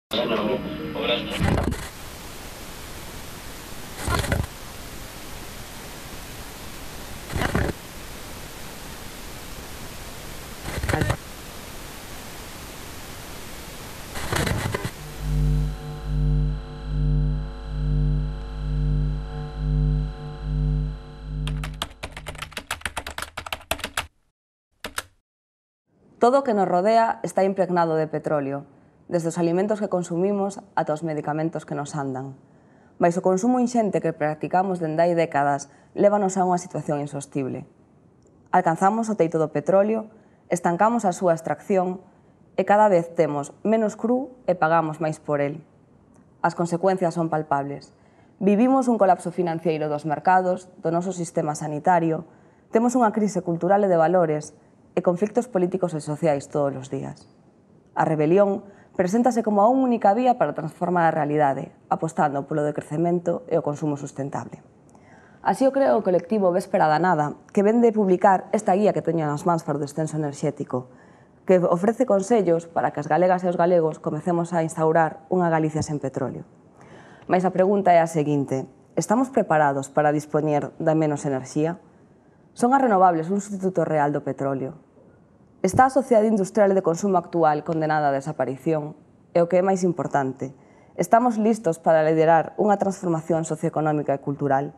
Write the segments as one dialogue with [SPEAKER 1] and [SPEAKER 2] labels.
[SPEAKER 1] Todo o que nos rodea está impregnado de petróleo, desde os alimentos que consumimos ata os medicamentos que nos andan. Mais o consumo inxente que practicamos dende hai décadas lévanos a unha situación insostible. Alcanzamos o teito do petróleo, estancamos a súa extracción e cada vez temos menos cru e pagamos máis por el. As consecuencias son palpables. Vivimos un colapso financiero dos mercados, do noso sistema sanitario, temos unha crise cultural e de valores e conflictos políticos e sociais todos os días. A rebelión preséntase como a única vía para transformar a realidade, apostando polo decrecemento e o consumo sustentable. Así o creo o colectivo Véspera da Nada, que ven de publicar esta guía que teño nas mans para o descenso enerxético, que ofrece consellos para que as galegas e os galegos comecemos a instaurar unha Galicia sen petróleo. Mais a pregunta é a seguinte: estamos preparados para dispoñer de menos enerxía? Son as renovables un sustituto real do petróleo? Está a sociedade industrial e de consumo actual condenada a desaparición? E o que é máis importante, estamos listos para liderar unha transformación socioeconómica e cultural?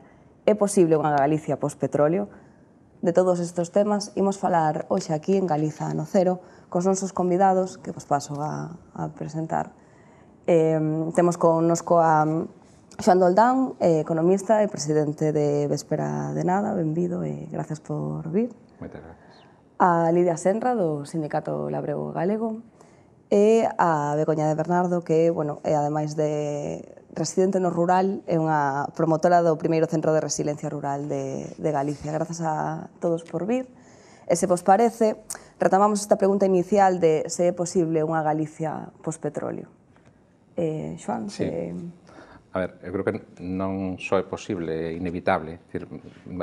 [SPEAKER 1] É posible unha Galicia post-petróleo? De todos estes temas imos falar hoxe aquí en Galiza no Cero cos nosos convidados, que vos paso a presentar. Temos connosco a Xoán Doldán, economista e presidente de Véspera de Nada. Benvido e gracias por vir.
[SPEAKER 2] Moitas gracias.
[SPEAKER 1] A Lidia Senra, do Sindicato Labrego Galego, e a Begoña de Bernardo, que, é ademais de residente no rural, é unha promotora do primeiro Centro de Resiliencia Rural de Galicia. Grazas a todos por vir. E se vos parece, retomamos esta pregunta inicial de se é posible unha Galicia post-petróleo. Xoán,
[SPEAKER 2] sí. A ver, eu creo que non só é posible, é inevitable.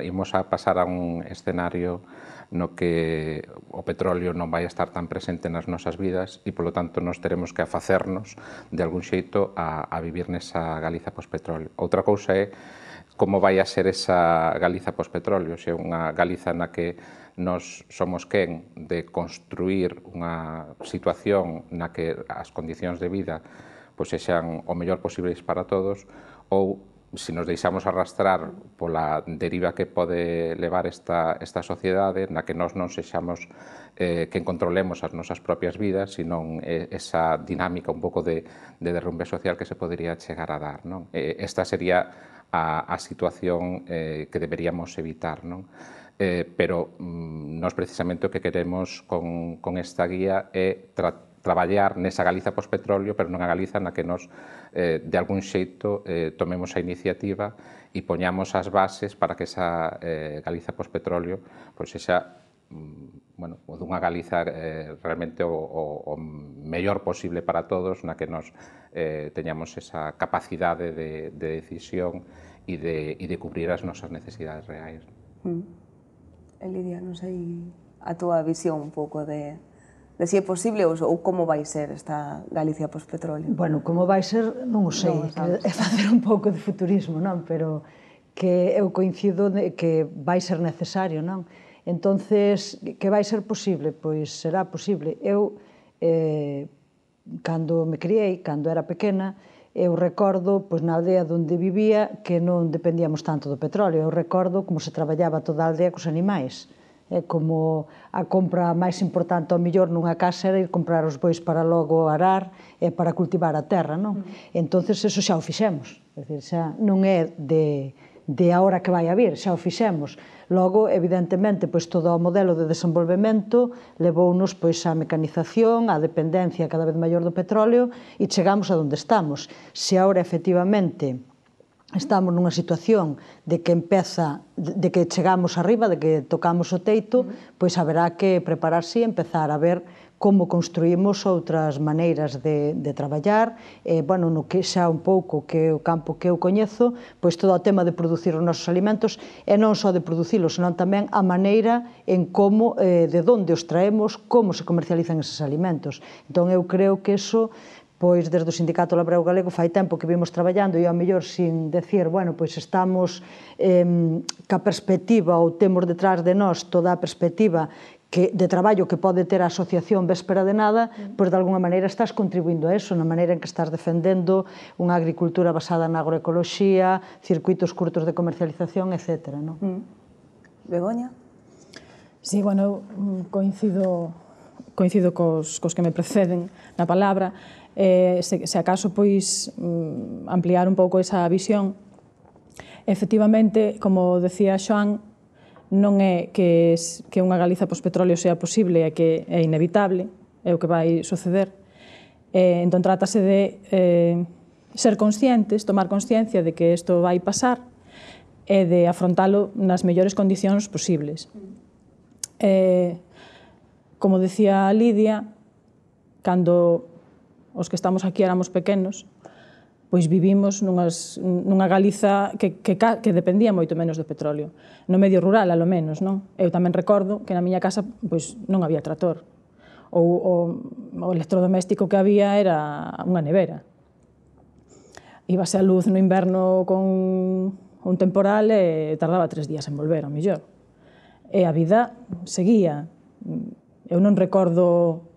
[SPEAKER 2] Imos a pasar a un escenario no que o petróleo non vai estar tan presente nas nosas vidas e, polo tanto, nos teremos que afacernos de algún xeito a vivir nesa Galiza post-petróleo. Outra cousa é como vai a ser esa Galiza post-petróleo, se é unha Galiza na que nos somos quen de construir unha situación na que as condicións de vida sexan o mellor posibles para todos, ou se nos deixamos arrastrar pola deriva que pode levar esta sociedade, na que nós non sexamos quen controlemos as nosas propias vidas, senón esa dinámica un pouco de derrumbe social que se podería chegar a dar. Esta sería a situación que deberíamos evitar. Pero nós precisamente o que queremos con esta guía é traballar nesa Galiza post-petróleo, pero nunha Galiza na que nos, de algún xeito, tomemos a iniciativa e poñamos as bases para que esa Galiza post-petróleo sexa dunha Galiza realmente o mellor posible para todos, na que nos teñamos esa capacidade de decisión e de cubrir as nosas necesidades reais.
[SPEAKER 1] Lidia, non sei a túa visión un pouco de se é posible ou como vai ser esta Galicia post-petróleo.
[SPEAKER 3] Bueno, como vai ser, non o sei, é facer un pouco de futurismo, non? Pero que eu coincido que vai ser necesario, non? Entonces, que vai ser posible? Pois será posible. Eu, cando me criei, cando era pequena, eu recordo, na aldea onde vivía, que non dependíamos tanto do petróleo. Eu recordo como se traballaba toda a aldea cos animais. Como a compra máis importante ao mellor nunha casa era ir comprar os bois para logo arar e para cultivar a terra, non? Entón, eso xa o fixemos. Xa non é de agora que vai a vir, xa o fixemos. Logo, evidentemente, todo o modelo de desenvolvemento levounos á mecanización, á dependencia cada vez maior do petróleo e chegamos a onde estamos. Se agora, efectivamente, estamos nunha situación de que chegamos arriba, de que tocamos o teito, pois haberá que prepararse e empezar a ver como construímos outras maneiras de traballar, no que xa un pouco que o campo que eu coñezo, pois todo o tema de producir os nosos alimentos, e non só de producilos, senón tamén a maneira en como, de onde os traemos, como se comercializan eses alimentos. Entón, eu creo que eso pois desde o Sindicato Labrego Galego fai tempo que vimos traballando e ao mellor sin decir, bueno, pois estamos ca perspectiva ou temos detrás de nós toda a perspectiva de traballo que pode ter a asociación Véspera de Nada, pois de alguna maneira estás contribuindo a eso, na maneira en que estás defendendo unha agricultura basada na agroecoloxía, circuitos curtos de comercialización, etc.
[SPEAKER 1] Begoña?
[SPEAKER 4] Sí, bueno, coincido cos que me preceden na palabra. Se acaso, pois, ampliar un pouco esa visión. Efectivamente, como decía Xoán, non é que unha Galiza pospetróleo sea posible, é que é inevitable, é o que vai suceder. Entón, trátase de ser conscientes, tomar consciencia de que isto vai pasar e de afrontalo nas mellores condicións posibles. Como decía Lidia, cando os que estamos aquí éramos pequenos, pois vivimos nunha Galiza que dependía moito menos do petróleo. No medio rural, alo menos, non? Eu tamén recordo que na miña casa pois non había trator. O electrodoméstico que había era unha nevera. Íbase a luz no inverno con un temporal e tardaba 3 días en volver, ao mellor. E a vida seguía. Eu non recordo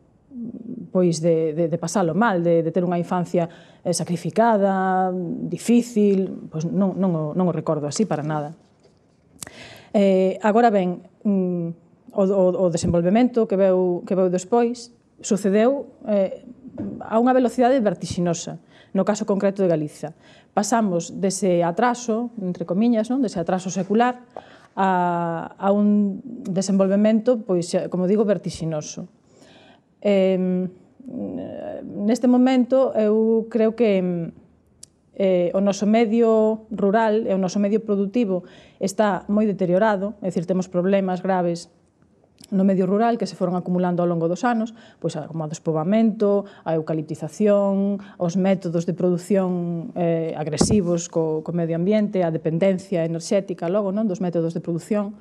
[SPEAKER 4] pois de pasalo mal, de ter unha infancia sacrificada, difícil, pois non o recordo así para nada. Agora ben, o desenvolvemento que veu despois sucedeu a unha velocidade vertixinosa, no caso concreto de Galiza. Pasamos dese atraso, entre comiñas, dese atraso secular, a un desenvolvemento, pois, como digo, vertixinoso. Neste momento, eu creo que o noso medio rural e o noso medio productivo está moi deteriorado, é dicir, temos problemas graves no medio rural que se foron acumulando ao longo dos anos, pois como o despoboamento, a eucaliptización, os métodos de produción agresivos co medio ambiente, a dependencia enerxética logo dos métodos de produción,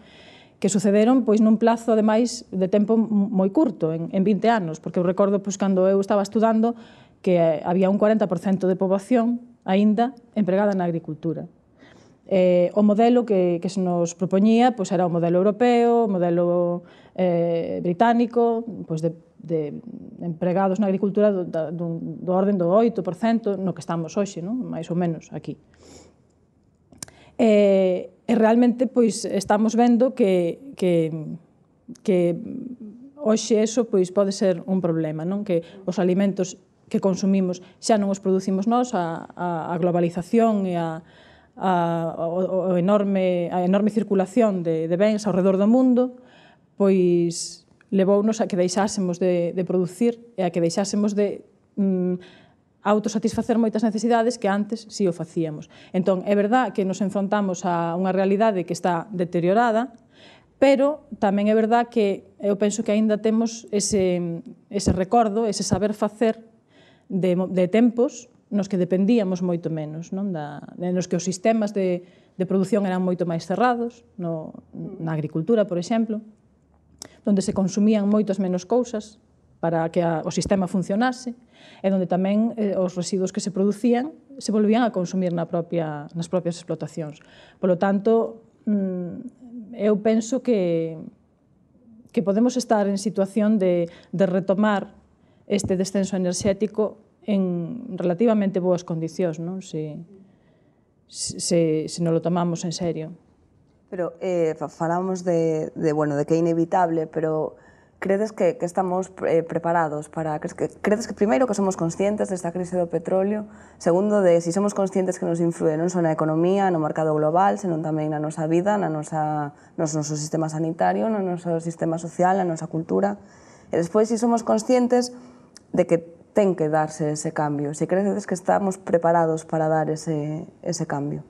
[SPEAKER 4] que sucederon pois nun plazo, ademais, de tempo moi curto, en 20 anos, porque eu recordo pois cando eu estaba estudando que había un 40% de poboación aínda empregada na agricultura. O modelo que se nos propoñía pois era o modelo europeo, o modelo británico, pois de empregados na agricultura do orden do 8%, no que estamos hoxe, máis ou menos aquí. E realmente pois estamos vendo que hoxe eso pois pode ser un problema, que os alimentos que consumimos xa non os producimos nós, a globalización e a enorme circulación de bens ao redor do mundo, pois levounos a que deixásemos de producir e a que deixásemos de autosatisfacer moitas necesidades que antes si o facíamos. Entón, é verdad que nos enfrontamos a unha realidade que está deteriorada, pero tamén é verdad que eu penso que aínda temos ese recordo, ese saber facer de tempos nos que dependíamos moito menos, nos que os sistemas de produción eran moito máis cerrados, na agricultura, por exemplo, onde se consumían moitas menos cousas para que o sistema funcionase, e onde tamén os residuos que se producían se volvían a consumir nas propias explotacións. Por lo tanto, eu penso que podemos estar en situación de retomar este descenso enerxético en relativamente boas condicións, se non lo tomamos en serio.
[SPEAKER 1] Pero falamos de que é inevitable, pero credes que estamos preparados para... Credes que primeiro que somos conscientes desta crise do petróleo, segundo de si somos conscientes que nos influe non só na economía, no mercado global, senón tamén na nosa vida, no noso sistema sanitario, no noso sistema social, na nosa cultura, e despois si somos conscientes de que ten que darse ese cambio, si credes que estamos preparados para dar ese cambio.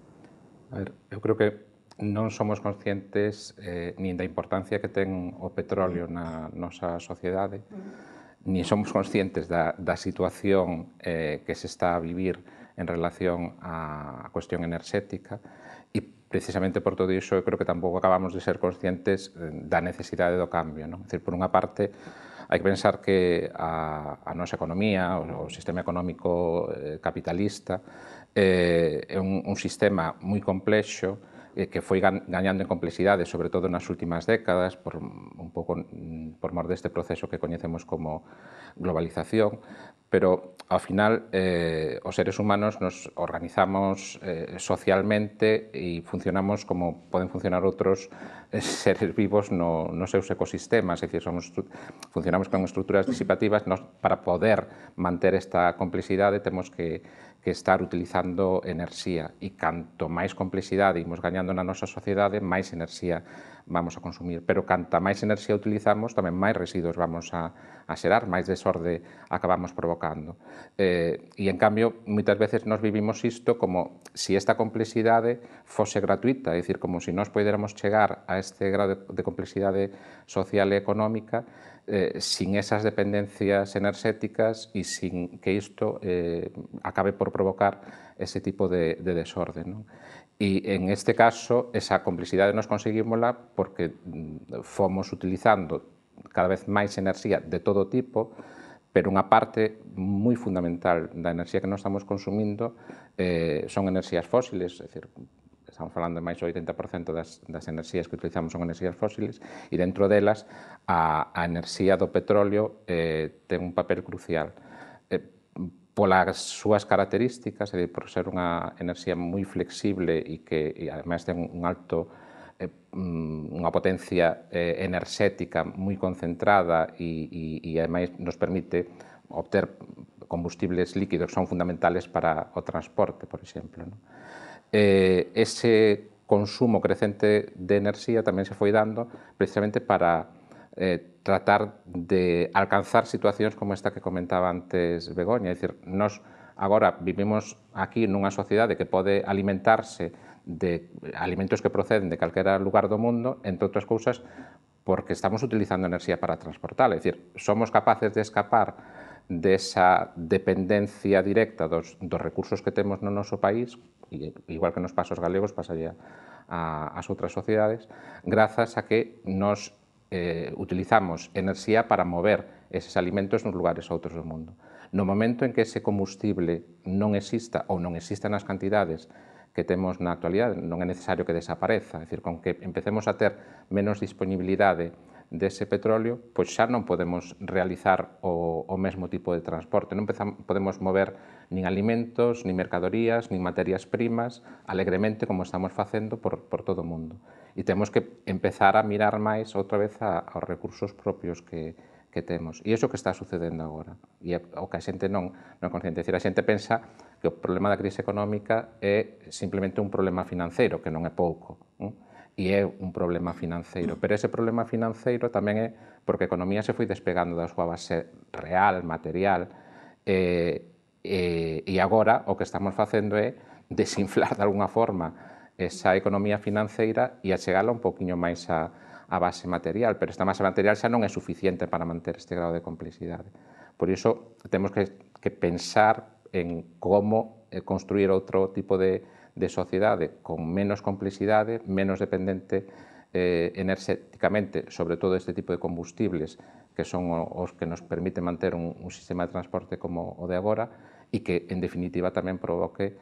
[SPEAKER 2] A ver, eu creo que non somos conscientes nin da importancia que ten o petróleo na nosa sociedade, nin somos conscientes da situación que se está a vivir en relación á cuestión enerxética, e precisamente por todo iso eu creo que tampouco acabamos de ser conscientes da necesidade do cambio. É dicir, por unha parte, Hai que pensar que a nosa economía, o sistema económico capitalista, é un sistema moi complexo que foi gañando en complexidade, sobre todo nas últimas décadas, un pouco por mor deste proceso que coñecemos como globalización, pero ao final os seres humanos nos organizamos socialmente e funcionamos como poden funcionar outros seres vivos nos seus ecosistemas, é dicir, funcionamos con estruturas disipativas. Para poder manter esta complexidade temos que estar utilizando enerxía, e canto máis complexidade imos gañando na nosa sociedade, máis enerxía vamos a consumir. Pero canta máis enerxía utilizamos, tamén máis residuos vamos a xerar, máis desorde acabamos provocando. E, en cambio, moitas veces nos vivimos isto como se esta complexidade fose gratuita, é dicir, como se nós poderamos chegar a este grado de complexidade social e económica sin esas dependencias enerxéticas e sin que isto acabe por provocar ese tipo de desorde, non? E, en este caso, esa complexidade nos conseguímola porque fomos utilizando cada vez máis enerxía de todo tipo, pero unha parte moi fundamental da enerxía que nós estamos consumindo son enerxías fósiles, é dicir, estamos falando de máis do 80% das enerxías que utilizamos son enerxías fósiles, e dentro delas a enerxía do petróleo ten un papel crucial. Polas súas características, por ser unha enerxía moi flexible e que ademais ten unha potencia enerxética moi concentrada e ademais nos permite obter combustibles líquidos que son fundamentales para o transporte, por exemplo. Ese consumo crecente de enerxía tamén se foi dando precisamente para tratar de alcanzar situacións como esta que comentaba antes Begoña. É dicir, nós agora vivimos aquí nunha sociedade que pode alimentarse de alimentos que proceden de calquera lugar do mundo, entre outras cousas, porque estamos utilizando enerxía para transportar. É dicir, somos capaces de escapar desa dependencia directa dos recursos que temos no noso país, igual que nos pasa aos galegos, pasaría ás outras sociedades, grazas a que nos utilizamos enerxía para mover eses alimentos nos lugares outros do mundo. No momento en que ese combustible non exista ou non exista nas cantidades que temos na actualidade, non é necesario que desapareza, é dicir, con que empecemos a ter menos disponibilidade dese petróleo, pois xa non podemos realizar o mesmo tipo de transporte, non podemos mover nin alimentos, nin mercadorías, nin materias primas alegremente como estamos facendo por todo o mundo. E temos que empezar a mirar máis outra vez aos recursos propios que temos. E iso que está sucedendo agora. E o que a xente non é consciente. É dicir, a xente pensa que o problema da crise económica é simplemente un problema financeiro, que non é pouco. E é un problema financeiro. Pero ese problema financeiro tamén é porque a economía se foi despegando da súa base real, material, e agora o que estamos facendo é desinflar de alguna forma esa economía financeira e achegala un poquinho máis a base material, pero esta base material xa non é suficiente para manter este grado de complexidade. Por iso, temos que pensar en como construir outro tipo de sociedade con menos complexidade, menos dependente enerxéticamente, sobre todo este tipo de combustibles que son os que nos permiten manter un sistema de transporte como o de agora e que, en definitiva, tamén provoque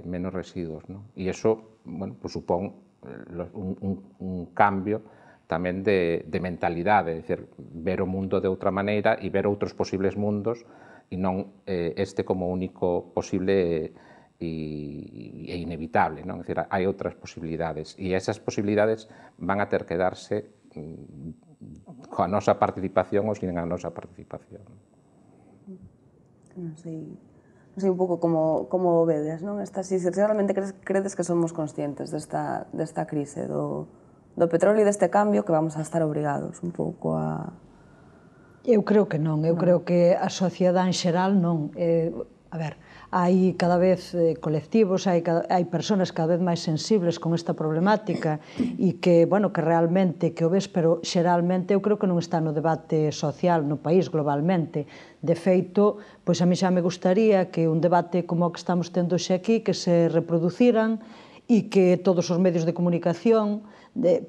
[SPEAKER 2] menos residuos. E iso supón un cambio tamén de mentalidade, é dicir, ver o mundo de outra maneira e ver outros posibles mundos e non este como único posible e inevitable, non? É dicir, hai outras posibilidades e esas posibilidades van a ter que darse coa nosa participación ou sin a nosa participación.
[SPEAKER 1] Non sei un pouco como o vedes, non? Si realmente credes que somos conscientes desta crise do petróleo e deste cambio que vamos a estar obrigados un pouco a...
[SPEAKER 3] Eu creo que non, eu creo que a sociedade en xeral non. A ver, hai cada vez colectivos, hai persoas cada vez máis sensibles con esta problemática e que, bueno, que realmente que o ves, pero xeralmente eu creo que non está no debate social no país globalmente. De feito, pois a mí xa me gustaría que un debate como o que estamos tendo xe aquí, que se reproduciran e que todos os medios de comunicación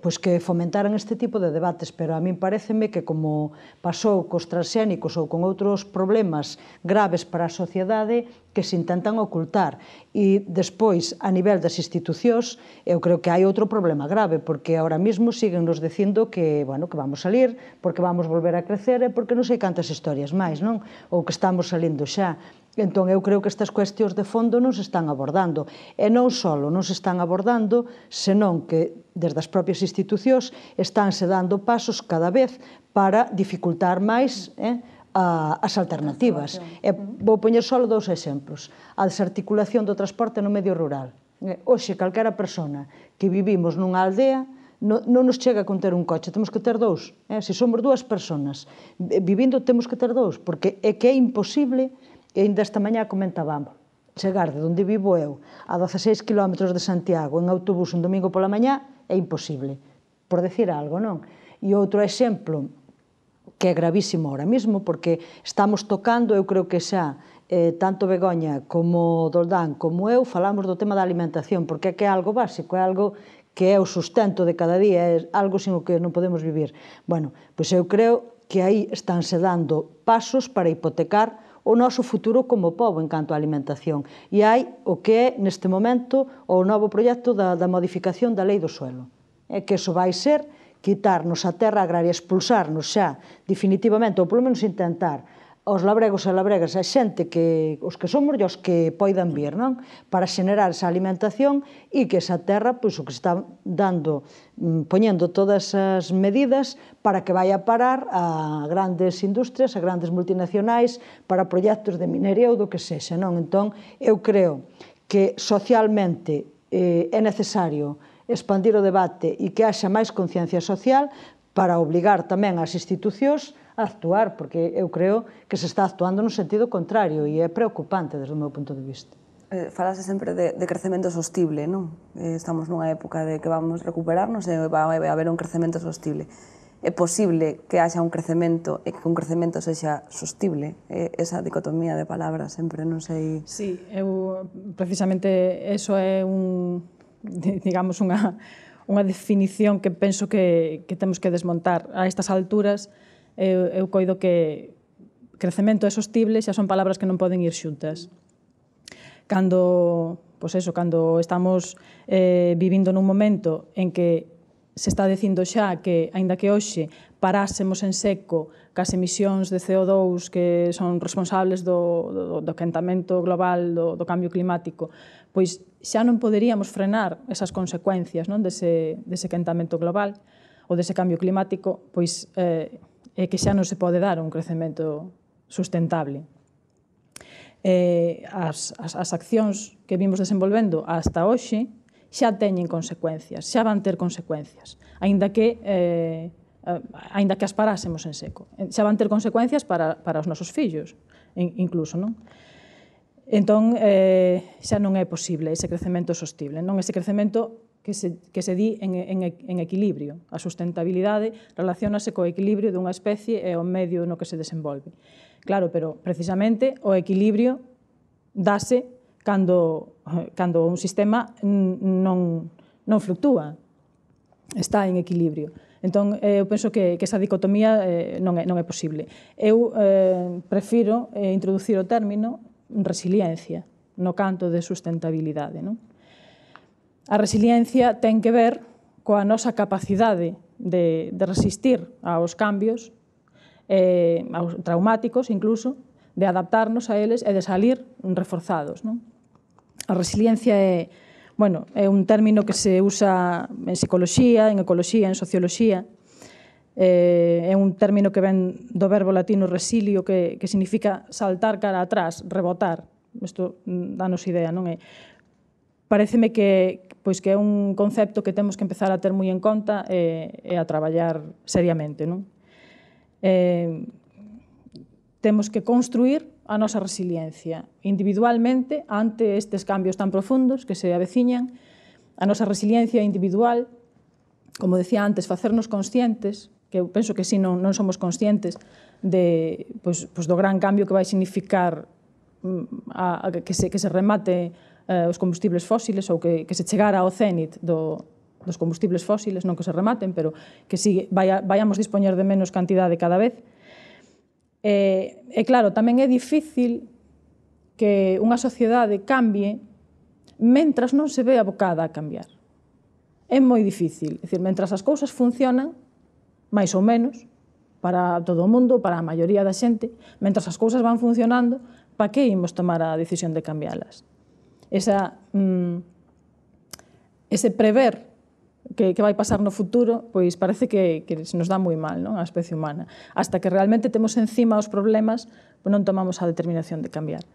[SPEAKER 3] pois que fomentaran este tipo de debates, pero a min pareceme que como pasou cos transxénicos ou con outros problemas graves para a sociedade que se intentan ocultar. E despois, a nivel das institucións, eu creo que hai outro problema grave, porque ahora mesmo siguen nos dicindo que, bueno, que vamos salir, porque vamos volver a crecer e porque non sei cantas historias máis, non? Ou que estamos salindo xa. Entón, eu creo que estas cuestións de fondo non se están abordando. E non só non se están abordando, senón que desde as propias institucións estánse dando pasos cada vez para dificultar máis as alternativas. Vou poñer só 2 exemplos. A desarticulación do transporte no medio rural. Hoxe, calquera persona que vivimos nunha aldea non nos chega con ter un coche, temos que ter 2. Se somos 2 personas vivindo, temos que ter 2, porque é que é imposible. E ainda esta mañá comentábamos, chegar de onde vivo eu a 16 km de Santiago en autobús un domingo pola mañá é imposible, por decir algo, non? E outro exemplo que é gravísimo ahora mismo, porque estamos tocando, eu creo que xa, tanto Begoña como Doldán como eu, falamos do tema da alimentación, porque é que é algo básico, é algo que é o sustento de cada día, é algo sin o que non podemos vivir. Bueno, pois eu creo que aí estánse dando pasos para hipotecar o noso futuro como pobo en canto á alimentación. E hai o que é, neste momento, o novo proxecto da modificación da lei do suelo. É que iso vai ser quitarnos a terra agraria, expulsarnos xa definitivamente, ou polo menos intentar, aos labregos e labregas, a xente que os que somos e os que poidan vir, non? Para xenerar esa alimentación e que esa terra, pois o que está dando, poñendo todas as medidas para que vai a parar a grandes industrias, a grandes multinacionais, para proxectos de minería ou do que sexa, non? Entón, eu creo que socialmente é necesario expandir o debate e que haxa máis conciencia social para obligar tamén as institucións a actuar, porque eu creo que se está actuando no sentido contrario e é preocupante desde o meu punto de vista.
[SPEAKER 1] Falase sempre de crecemento sostible, non? Estamos nunha época de que vamos recuperarnos e vai haber un crecemento sostible. É posible que haxa un crecemento e que un crecemento sexa sostible? Esa dicotomía de palabras sempre non sei...
[SPEAKER 4] Sí, precisamente eso é digamos, unha definición que penso que temos que desmontar a estas alturas. Eu coido que crecemento e sostible xa son palabras que non poden ir xuntas. Cando estamos vivindo nun momento en que se está dicindo xa que, aínda que hoxe parásemos en seco cas emisións de CO2 que son responsables do quentamento global, do cambio climático, pois xa non poderíamos frenar esas consecuencias dese quentamento global ou dese cambio climático, pois é que xa non se pode dar un crecemento sustentable. As accións que vimos desenvolvendo hasta hoxe xa teñen consecuencias, xa van ter consecuencias, aínda que as parásemos en seco. Xa van ter consecuencias para os nosos fillos, incluso, non? Entón, xa non é posible ese crecemento sostible, non ese crecemento que se di en equilibrio. A sustentabilidade relacionase co equilibrio dunha especie e o medio no que se desenvolve. Claro, pero precisamente o equilibrio dase cando un sistema non fluctúa, está en equilibrio. Entón, eu penso que esa dicotomía non é posible. Eu prefiro introducir o término resiliencia no canto de sustentabilidade, non? A resiliencia ten que ver coa nosa capacidade de resistir aos cambios traumáticos, incluso, de adaptarnos a eles e de salir reforzados, non? A resiliencia é un término que se usa en psicoloxía, en ecoloxía, en socioloxía. É un término que ven do verbo latino resilio, que significa saltar cara atrás, rebotar. Isto danos idea, non é? Paréceme que é un concepto que temos que empezar a ter moi en conta e a traballar seriamente, non? Temos que construir a nosa resiliencia individualmente ante estes cambios tan profundos que se aveciñan. A nosa resiliencia individual, como decía antes, facernos conscientes, que eu penso que si non somos conscientes do gran cambio que vai significar que se remate os combustibles fósiles ou que se chegara ao cénit dos combustibles fósiles, non que se rematen, pero que vayamos dispoñer de menos cantidade cada vez. E claro, tamén é difícil que unha sociedade cambie mentras non se ve abocada a cambiar. É moi difícil. É dicir, mentras as cousas funcionan, máis ou menos, para todo o mundo, para a maioría da xente, mentras as cousas van funcionando, para que imos tomar a decisión de cambialas? Ese prever que vai pasar no futuro, pois parece que se nos dá moi mal, non, a especie humana. Hasta que realmente temos encima os problemas, non tomamos a determinación de cambiar.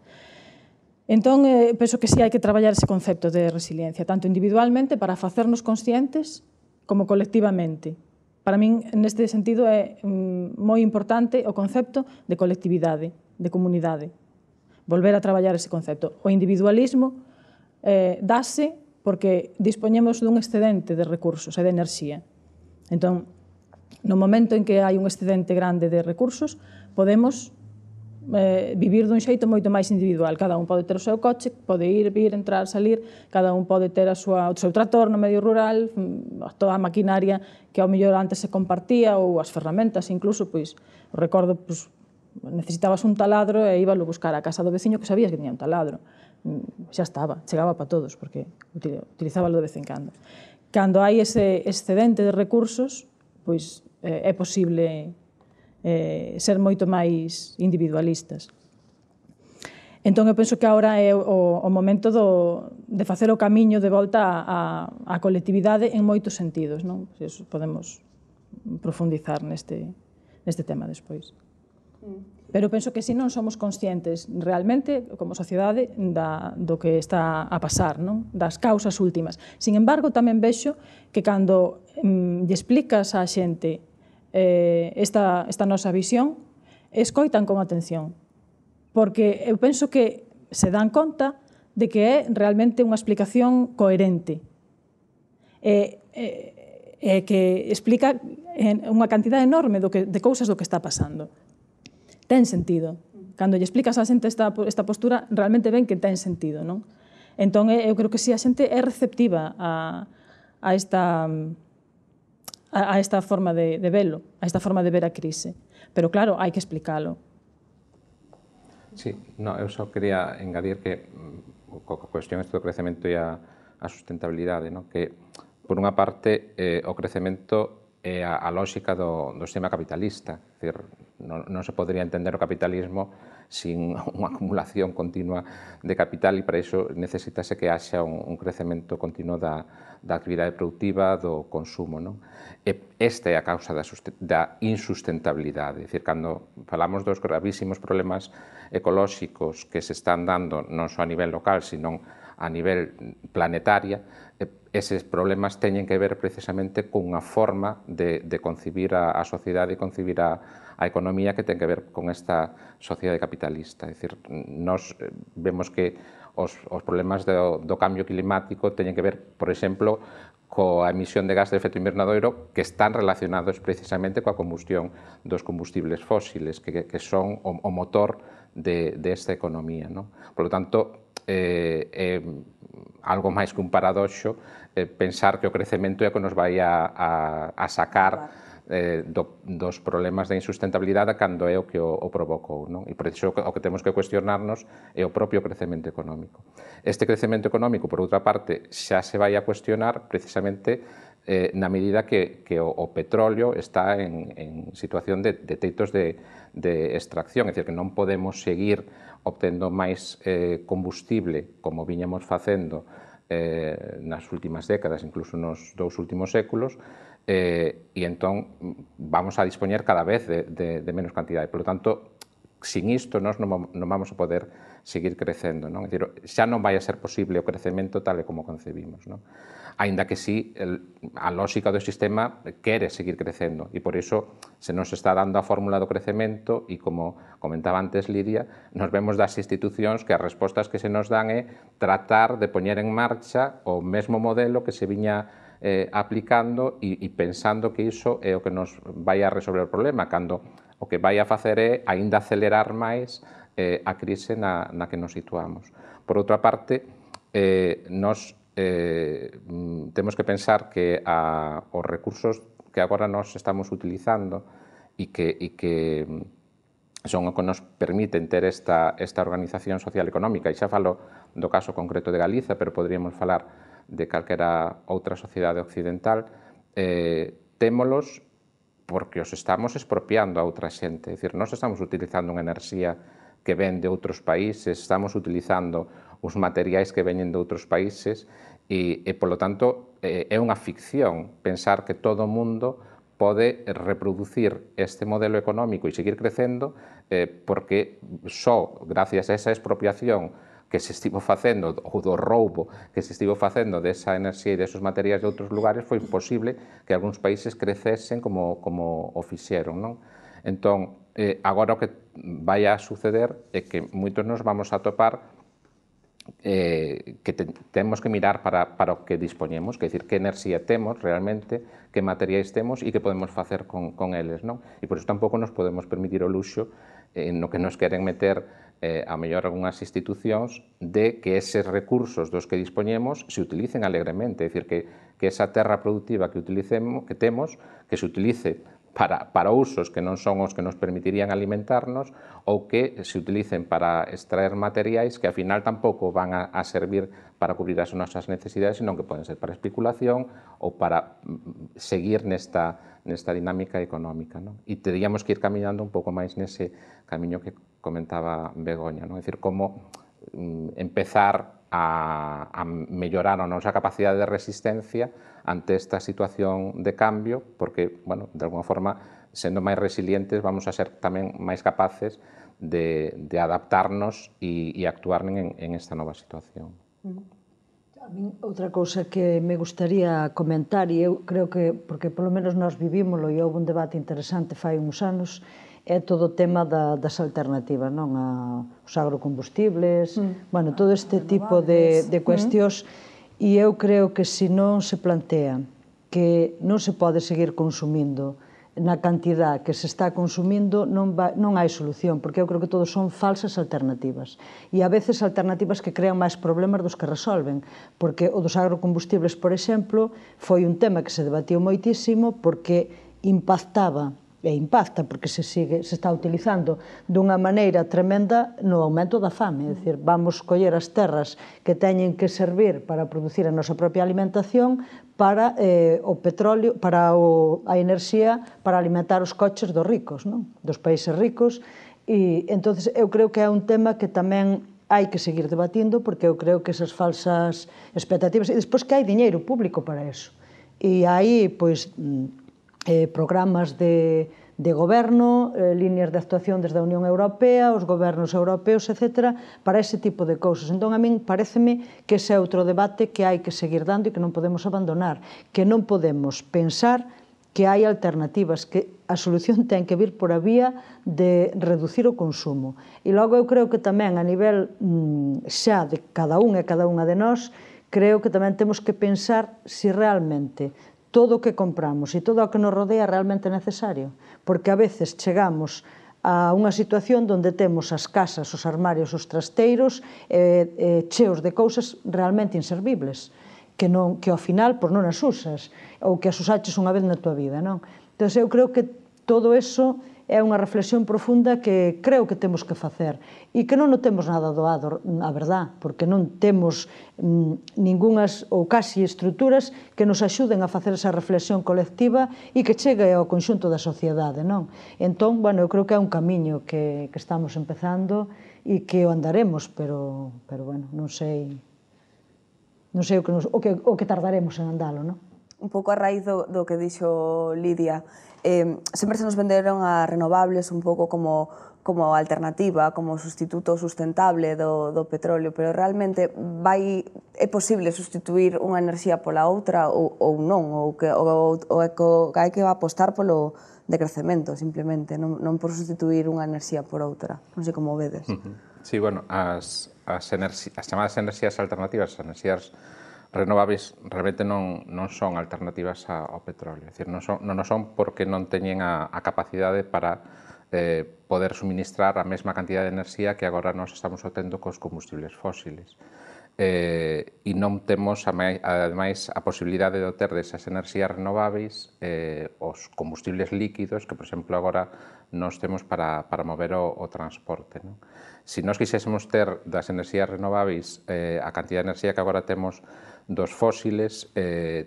[SPEAKER 4] Entón, penso que sí hai que traballar ese concepto de resiliencia, tanto individualmente para facernos conscientes como colectivamente. Para min, neste sentido, é moi importante o concepto de colectividade, de comunidade. Volver a traballar ese concepto. O individualismo dáse porque dispoñemos dun excedente de recursos e de enerxía. Entón, no momento en que hai un excedente grande de recursos, podemos vivir dun xeito moito máis individual. Cada un pode ter o seu coche, pode ir, vir, entrar, salir, cada un pode ter o seu tractor no medio rural, toda a maquinaria que ao mellor antes se compartía, ou as ferramentas, incluso, pois, recordo, necesitabas un taladro e íbalo buscar a casa do veciño que sabías que tiña un taladro. Xa estaba, chegaba para todos, porque utilizábalo de vez en cando. Cando hai ese excedente de recursos, pois é posible ser moito máis individualistas. Entón, eu penso que agora é o momento de facer o camiño de volta á colectividade en moitos sentidos, non? Podemos profundizar neste tema despois. Pero penso que se non somos conscientes realmente, como sociedade, do que está a pasar, non? Das causas últimas. Sin embargo, tamén vexo que cando lle explicas á xente esta nosa visión, escoitan con atención, porque eu penso que se dan conta de que é realmente unha explicación coherente e que explica unha cantidad enorme de cousas do que está pasando. Ten sentido. Cando lle explicas á xente esta postura, realmente ven que ten sentido, non? Entón, eu creo que si a xente é receptiva a esta forma de velo, a esta forma de ver a crise. Pero, claro, hai que explicalo.
[SPEAKER 2] Sí, eu só quería engadir que a cuestión do crecemento e a sustentabilidade, que, por unha parte, o crecemento é a lógica do sistema capitalista. É dicir, non se podría entender o capitalismo sin unha acumulación continua de capital e para iso necesitase que haxa un crecemento continuo da actividade productiva, do consumo. Esta é a causa da insustentabilidade. É dicir, cando falamos dos gravísimos problemas ecolóxicos que se están dando non só a nivel local, sino a nivel planetaria, eses problemas teñen que ver precisamente cunha forma de concibir a sociedade e concibir a economía que ten que ver con esta sociedade capitalista. É dicir, nós vemos que os problemas do cambio climático teñen que ver, por exemplo, coa emisión de gas de efecto invernadoiro que están relacionados precisamente coa combustión dos combustibles fósiles, que son o motor desta economía. Por lo tanto, é algo máis que un paradoxo pensar que o crecemento é o que nos vai a sacar dos problemas da insustentabilidade cando é o que o provocou. E por iso o que temos que cuestionarnos é o propio crecemento económico. Este crecemento económico, por outra parte, xa se vai a cuestionar precisamente na medida que o petróleo está en situación de teitos de extracción, é dicir, que non podemos seguir obtendo máis combustible como viñamos facendo nas últimas décadas, incluso nos 2 últimos séculos, e entón vamos a dispoñer cada vez de menos cantidade. Por lo tanto, sin isto nós non vamos a poder seguir crecendo. É dicir, xa non vai a ser posible o crecemento tal e como concebimos. Aínda que sí, a lógica do sistema quere seguir crecendo e por iso se nos está dando a fórmula do crecemento e, como comentaba antes Lidia, nos vemos das institucións que as respostas que se nos dan é tratar de poñer en marcha o mesmo modelo que se viña aplicando e pensando que iso é o que nos vai a resolver o problema, cando o que vai a facer é aínda acelerar máis a crise na que nos situamos. Por outra parte, nos temos que pensar que os recursos que agora nos estamos utilizando e que son o que nos permiten ter esta organización social e económica, e xa falo do caso concreto de Galiza, pero poderíamos falar de calquera outra sociedade occidental, témolos porque os estamos expropiando a outra xente. É dicir, nós estamos utilizando unha enerxía que ven de outros países, estamos utilizando os materiais que veñen de outros países e polo tanto, é unha ficción pensar que todo o mundo pode reproducir este modelo económico e seguir crecendo porque só gracias a esa expropiación que se estivo facendo, ou do roubo que se estivo facendo desa enerxía e desos materiais de outros lugares, foi posible que algúns países crecesen como o fixeron, non? Entón, agora o que vai a suceder é que moitos nos vamos a topar que temos que mirar para o que dispoñemos, que é dicir, que enerxía temos realmente, que materiais temos e que podemos facer con eles, non? E por iso tampouco nos podemos permitir o luxo no que nos queren meter a mellor algunhas institucións de que eses recursos dos que dispoñemos se utilicen alegremente, é dicir, que esa terra productiva que temos, que se utilice para usos que non son os que nos permitirían alimentarnos ou que se utilicen para extraer materiais que, ao final, tampouco van a servir para cubrir as nosas necesidades, senón que poden ser para especulación ou para seguir nesta dinámica económica, non? E teríamos que ir camiñando un pouco máis nese camiño que comentaba Begoña, non? É dicir, como empezar a mellorar a nosa capacidade de resistencia ante esta situación de cambio, porque, bueno, de alguna forma, sendo máis resilientes, vamos a ser tamén máis capaces de adaptarnos e actuar en esta nova situación.
[SPEAKER 3] A min, outra cousa que me gustaría comentar, e eu creo que, porque polo menos nós vivímoslo e houve un debate interesante fai uns anos, é todo o tema das alternativas, non? Os agrocombustibles, bueno, todo este tipo de cuestións, e eu creo que se non se plantea que non se pode seguir consumindo na cantidad que se está consumindo, non hai solución, porque eu creo que todos son falsas alternativas. E a veces alternativas que crean máis problemas dos que resolven, porque o dos agrocombustibles, por exemplo, foi un tema que se debatiu moitísimo porque impactaba e impacta porque se está utilizando dunha maneira tremenda no aumento da fame, é dicir, vamos coller as terras que teñen que servir para producir a nosa propia alimentación para o petróleo, para a enerxía para alimentar os coches dos ricos, non? Dos países ricos, e entonces eu creo que é un tema que tamén hai que seguir debatindo porque eu creo que esas falsas expectativas, e despois que hai diñeiro público para eso, e aí, pois, programas de goberno, líneas de actuación desde a Unión Europea, os gobernos europeos, etc., para ese tipo de cousas. Entón, a min pareceme que ese é outro debate que hai que seguir dando e que non podemos abandonar, que non podemos pensar que hai alternativas, que a solución ten que vir por a vía de reducir o consumo. E logo eu creo que tamén a nivel xa de cada un e cada unha de nós, creo que tamén temos que pensar se realmente todo o que compramos e todo o que nos rodea é realmente necesario, porque a veces chegamos a unha situación onde temos as casas, os armarios, os trasteiros cheos de cousas realmente inservibles, que ao final non as usas, ou que as usaches unha vez na tua vida, non? Entón, eu creo que todo eso é unha reflexión profunda que creo que temos que facer e que non temos nada doado, a verdad, porque non temos ningunhas ou casi estruturas que nos axuden a facer esa reflexión colectiva e que chegue ao conxunto da sociedade, non? Entón, bueno, eu creo que é un camiño que estamos empezando e que o andaremos, pero bueno, non sei o que tardaremos en andalo, non?
[SPEAKER 1] Un pouco a raíz do que dixo Lidia, sempre se nos venderon a renovables un pouco como alternativa, como sustituto sustentable do petróleo, pero realmente é posible sustituir unha enerxía pola outra ou non, ou hai que apostar polo decrecemento, simplemente, non por sustituir unha enerxía por outra. Non sei como vedes.
[SPEAKER 2] Sí, bueno, as chamadas enerxías alternativas, as enerxías renovables realmente non son alternativas ao petróleo, é dicir, non son porque non teñen a capacidade para poder suministrar a mesma cantidad de enerxía que agora nós estamos obtendo cos combustibles fósiles. E non temos, ademais, a posibilidade de obter desas enerxías renováveis os combustibles líquidos que, por exemplo, agora nós temos para mover o transporte. Se nós quixésemos ter das enerxías renováveis a cantidad de enerxía que agora temos dos fósiles,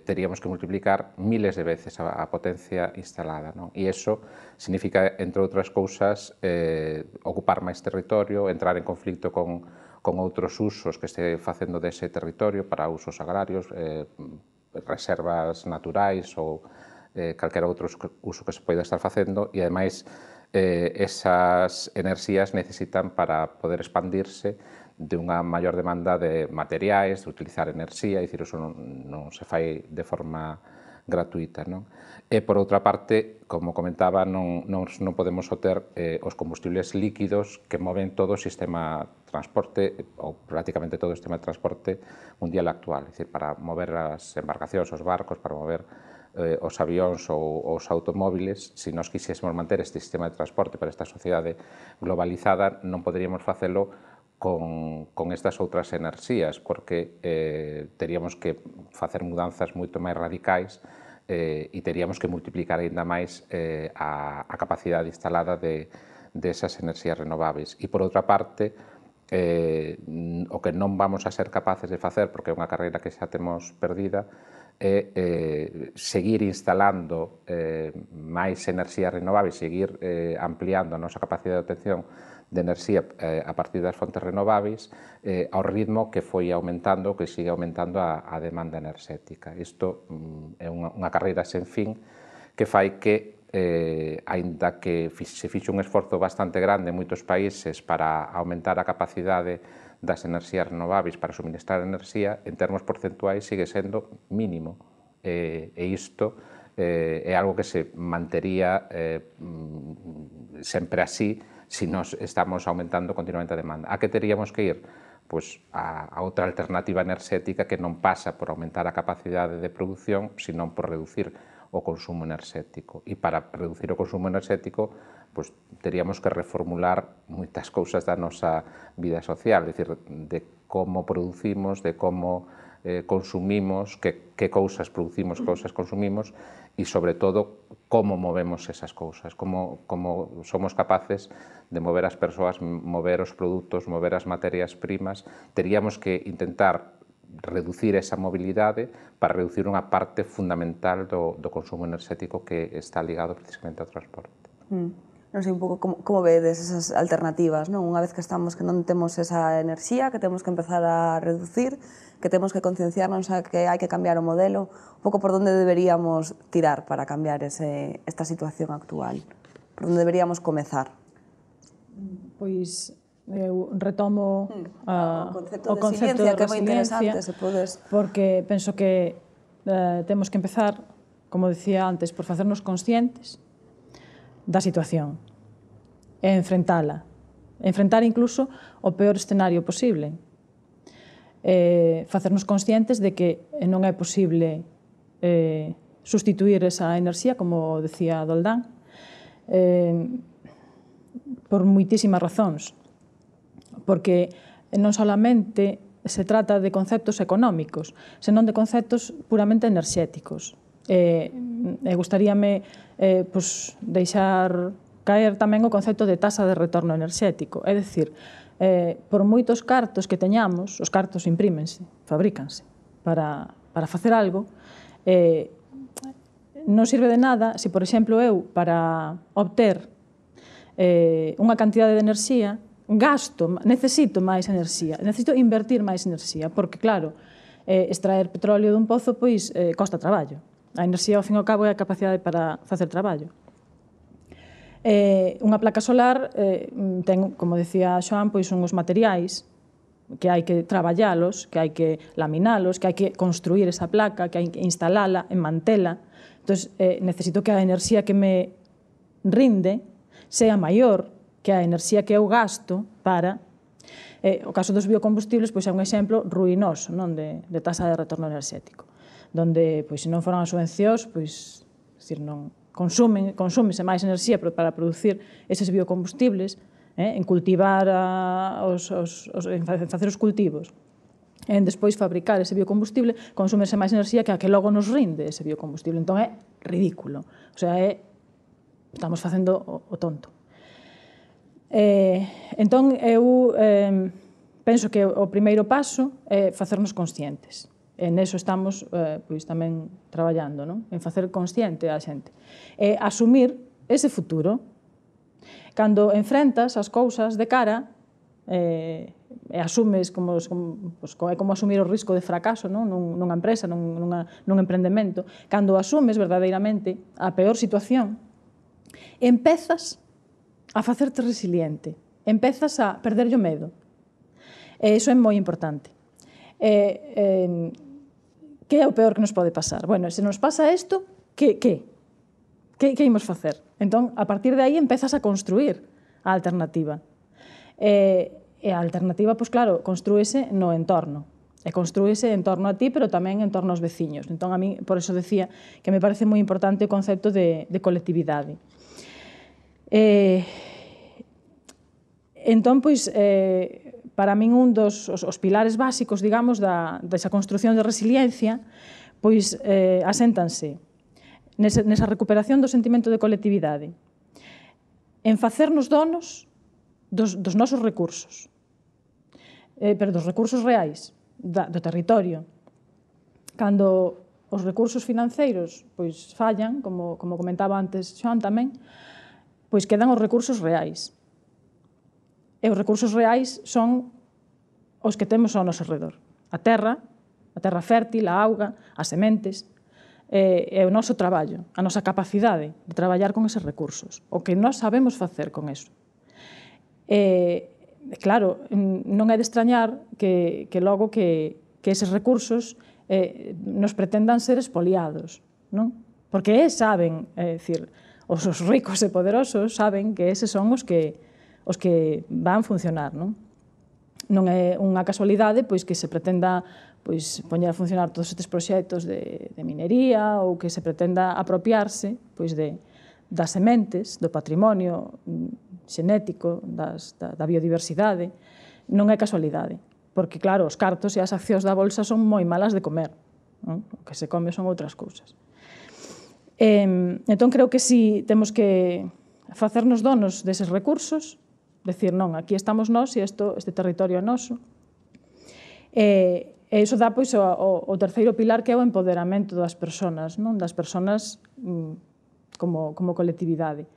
[SPEAKER 2] teríamos que multiplicar miles de veces a potencia instalada. E iso significa, entre outras cousas, ocupar máis territorio, entrar en conflicto con outros usos que este facendo dese territorio para usos agrarios, reservas naturais ou calquera outro uso que se poida estar facendo, e ademais esas enerxías necesitan para poder expandirse de unha maior demanda de materiais, de utilizar enerxía, e dicir, iso non se fai de forma gratuita. E, por outra parte, como comentaba, non podemos obter os combustibles líquidos que moven todo o sistema de transporte, ou prácticamente todo o sistema de transporte mundial actual. É dicir, para mover as embarcacións, os barcos, para mover os avións ou os automóviles, se nós quixésemos manter este sistema de transporte para esta sociedade globalizada, non poderíamos facelo con estas outras enerxías, porque teríamos que facer mudanzas moito máis radicais e teríamos que multiplicar aínda máis a capacidade instalada desas enerxías renováveis. E, por outra parte, o que non vamos a ser capaces de facer, porque é unha carreira que xa temos perdida, é seguir instalando máis enerxías renováveis, seguir ampliando a nosa capacidade de obtención de enerxía a partir das fontes renováveis ao ritmo que foi aumentando, que sigue aumentando a demanda enerxética. Isto é unha carreira sen fin que fai que, aínda que se fixe un esforzo bastante grande en moitos países para aumentar a capacidade das enerxías renováveis para suministrar enerxía, en termos porcentuais sigue sendo mínimo. E isto é algo que se mantería sempre así se nós estamos aumentando continuamente a demanda. A que teríamos que ir? Pois a outra alternativa enerxética que non pasa por aumentar a capacidade de produción, senón por reducir o consumo enerxético. E para reducir o consumo enerxético, pois teríamos que reformular moitas cousas da nosa vida social, é dicir, de como producimos, de como consumimos, que cousas producimos, que cousas consumimos, e, sobre todo, como movemos esas cousas, como somos capaces de mover as persoas, mover os produtos, mover as materias primas. Teríamos que intentar reducir esa mobilidade para reducir unha parte fundamental do consumo enerxético que está ligado precisamente ao transporte.
[SPEAKER 1] Non sei un pouco como vedes esas alternativas, non? Unha vez que estamos que non temos esa enerxía, que temos que empezar a reducir, que temos que concienciarnos a que hai que cambiar o modelo, un pouco por onde deberíamos tirar para cambiar esta situación actual? Por onde deberíamos comezar?
[SPEAKER 4] Pois eu retomo
[SPEAKER 1] o concepto de resiliencia, que é moi interesante, se podes...
[SPEAKER 4] Porque penso que temos que empezar, como decía antes, por facernos conscientes da situación e enfrentar incluso o peor escenario posible. Facernos conscientes de que non é posible sustituir esa enerxía, como decía Doldán, por moitísimas razóns. Porque non solamente se trata de conceptos económicos, senón de conceptos puramente enerxéticos. Gustaríame deixar caer tamén o concepto de taxa de retorno enerxético. É dicir, por moitos cartos que teñamos, os cartos imprímense, fabrícanse, para facer algo, non sirve de nada se, por exemplo, eu, para obter unha cantidade de enerxía, necesito máis enerxía, necesito invertir máis enerxía, porque, claro, extraer petróleo dun pozo, pois, costa traballo. A enerxía, ao fin e ao cabo, é a capacidade para facer traballo. Unha placa solar ten, como decía Xoán, pois unhos materiais que hai que traballalos, que hai que laminalos, que hai que construir esa placa, que hai que instalala, enmantela. Entón, necesito que a enerxía que me rinde sea maior que a enerxía que eu gasto para... O caso dos biocombustibles pois é un exemplo ruinoso, non, de taxa de retorno enerxético, donde, pois, se non foran as subvencións, pois, non consúmese máis enerxía para producir eses biocombustibles, en cultivar, en facer os cultivos, en despois fabricar ese biocombustible, consúmese máis enerxía que a que logo nos rinde ese biocombustible. Entón é ridículo. O sea, estamos facendo o tonto. Entón, eu penso que o primeiro paso é facernos conscientes. E neso estamos tamén traballando, en facer consciente a xente. E asumir ese futuro. Cando enfrentas as cousas de cara, e asumes é como asumir o risco de fracaso nunha empresa, nun emprendemento. Cando asumes verdadeiramente a peor situación, empezas a facerte resiliente, empezas a perderlle o medo. E iso é moi importante. Que é o peor que nos pode pasar? Bueno, se nos pasa isto, que imos facer? Entón, a partir de aí, empezas a construir a alternativa. E a alternativa, pois claro, construíse no entorno. E construíse en torno a ti, pero tamén en torno aos veciños. Entón, a mí, por eso decía que me parece moi importante o concepto de colectividade. Entón, pois, para min un dos pilares básicos, digamos, desa construción de resiliencia, pois aséntanse nesa recuperación do sentimento de colectividade, en facernos donos dos nosos recursos, pero dos recursos reais, do territorio. Cando os recursos financeiros pois fallan, como comentaba antes Xoan tamén, pois quedan os recursos reais. E os recursos reais son os que temos ao noso redor. A terra fértil, a auga, as sementes, e o noso traballo, a nosa capacidade de traballar con eses recursos, o que nós sabemos facer con eso. Claro, non é de extrañar que logo que eses recursos nos pretendan ser expoliados, non? Porque saben, é dicir, os ricos e poderosos saben que eses son os que van funcionar, non? Non é unha casualidade pois que se pretenda poñer a funcionar todos estes proxectos de minería ou que se pretenda apropiarse das sementes, do patrimonio xenético, da biodiversidade. Non é casualidade, porque claro, os cartos e as accións da bolsa son moi malas de comer. O que se come son outras cousas. Entón creo que si temos que facernos donos deses recursos, decir, non, aquí estamos nós e este territorio é noso. E iso dá pois o terceiro pilar, que é o empoderamento das persoas, das persoas como colectividade.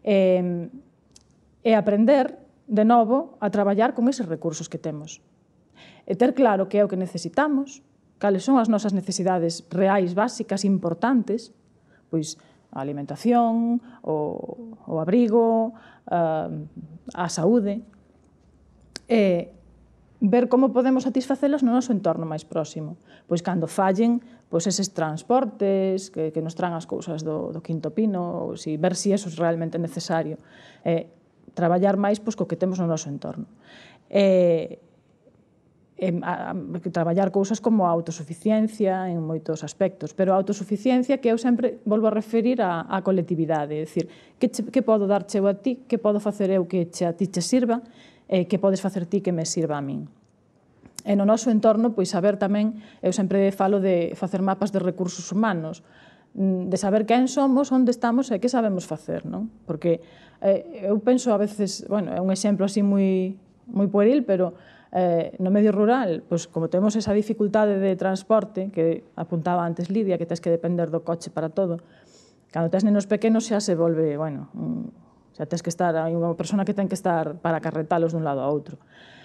[SPEAKER 4] E aprender, de novo, a traballar con eses recursos que temos. E ter claro que é o que necesitamos, cales son as nosas necesidades reais, básicas, importantes, pois a alimentación, o abrigo, a saúde, e ver como podemos satisfacelas no noso entorno máis próximo. Pois cando fallen eses transportes que nos traen as cousas do quinto pino, ver se iso é realmente necesario. Traballar máis co que temos no noso entorno. Traballar cousas como a autosuficiencia en moitos aspectos, pero a autosuficiencia que eu sempre volvo a referir á colectividade, é dicir, que podo darche eu a ti, que podo facer eu que a ti te sirva, e que podes facer ti que me sirva a min. E no noso entorno, pois saber tamén, eu sempre falo de facer mapas de recursos humanos, de saber quen somos, onde estamos e que sabemos facer, non? Porque eu penso a veces, bueno, é un exemplo así moi pueril, pero no medio rural, pois como temos esa dificultade de transporte, que apuntaba antes Lidia, que tens que depender do coche para todo, cando tens nenos pequenos xa se volve, bueno, xa tens que estar, hai unha persona que ten que estar para carretalos dun lado a outro.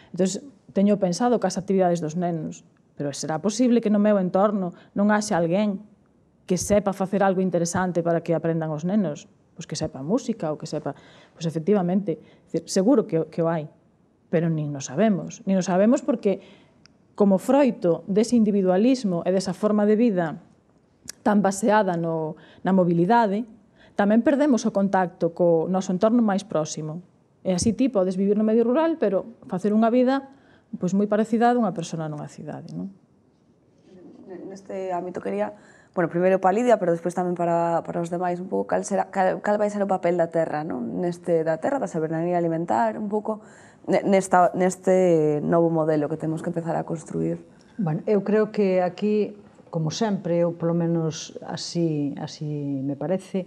[SPEAKER 4] Entón, teño pensado que as actividades dos nenos, pero será posible que no meu entorno non haxe alguén que sepa facer algo interesante para que aprendan os nenos? Pois que sepa música ou que sepa... Pois efectivamente, seguro que o hai, pero nin nos sabemos. Nin nos sabemos porque, como froito dese individualismo e desa forma de vida tan baseada na mobilidade, tamén perdemos o contacto co noso entorno máis próximo. E así ti podes vivir no medio rural, pero facer unha vida moi parecida a dunha persona nunha cidade, non?
[SPEAKER 1] neste ámbito quería, bueno, primeiro para Lidia, pero despois tamén para os demais, un pouco cal vai ser o papel da terra, non? Da terra, da soberanía alimentar, un pouco neste novo modelo que temos que empezar a construir.
[SPEAKER 3] Bueno, eu creo que aquí, como sempre, ou polo menos así me parece,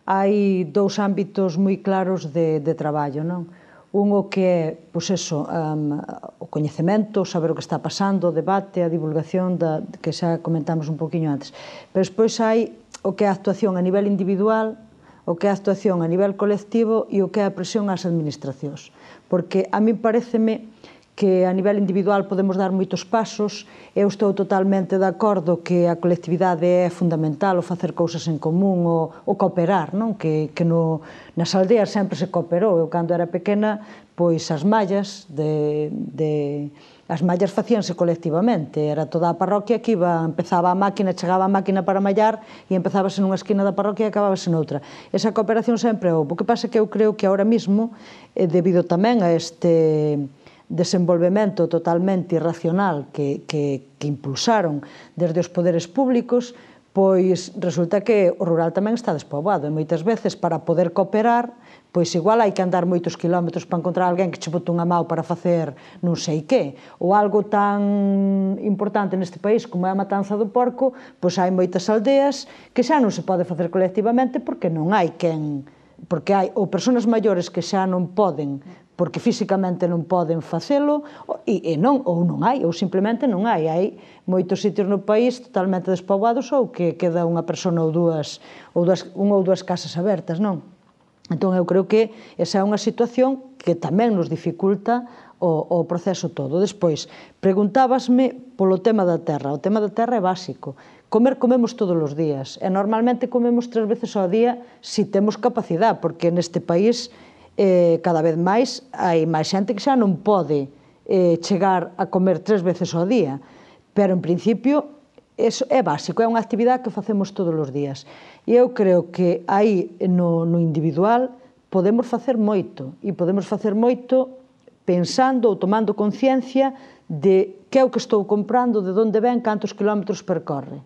[SPEAKER 3] hai dous ámbitos moi claros de traballo, non? Un o que é, pois eso, o coñecemento, saber o que está pasando, o debate, a divulgación, que xa comentamos un poquinho antes. Pero despois hai o que é a actuación a nivel individual, o que é a actuación a nivel colectivo e o que é a presión ás administracións. Porque a mí paréceme que a nivel individual podemos dar moitos pasos. Eu estou totalmente de acordo que a colectividade é fundamental, o facer cousas en común, o cooperar, non? Que nas aldeas sempre se cooperou. Eu, cando era pequena, pois as mallas as mallas facíanse colectivamente. Era toda a parroquia que empezaba a máquina, chegaba a máquina para mallar e empezábase nunha esquina da parroquia e acabábase noutra. Esa cooperación sempre houve. O que pasa é que eu creo que ahora mismo, debido tamén a este desenvolvemento totalmente irracional que impulsaron desde os poderes públicos, pois resulta que o rural tamén está despoboado e moitas veces para poder cooperar, pois igual hai que andar moitos kilómetros para encontrar alguén que che bote unha mão para facer non sei que, ou algo tan importante neste país como é a matanza do porco, pois hai moitas aldeas que xa non se pode facer colectivamente porque non hai quen, porque hai ou persoas maiores que xa non poden porque físicamente non poden facelo, ou non hai, ou simplemente non hai. Hai moitos sitios no país totalmente despoboados ou que queda unha persona ou dúas, unha ou dúas casas abertas, non? Entón, eu creo que esa é unha situación que tamén nos dificulta o proceso todo. Despois, preguntábasme polo tema da terra. O tema da terra é básico. Comemos todos os días, e normalmente comemos 3 veces ao día se temos capacidade, porque neste país cada vez máis hai máis xente que xa non pode chegar a comer 3 veces ao día, pero en principio é básico, é unha actividade que facemos todos os días. E eu creo que aí no individual podemos facer moito, e podemos facer moito pensando ou tomando conciencia de que é o que estou comprando, de onde ven, cantos kilómetros percorre.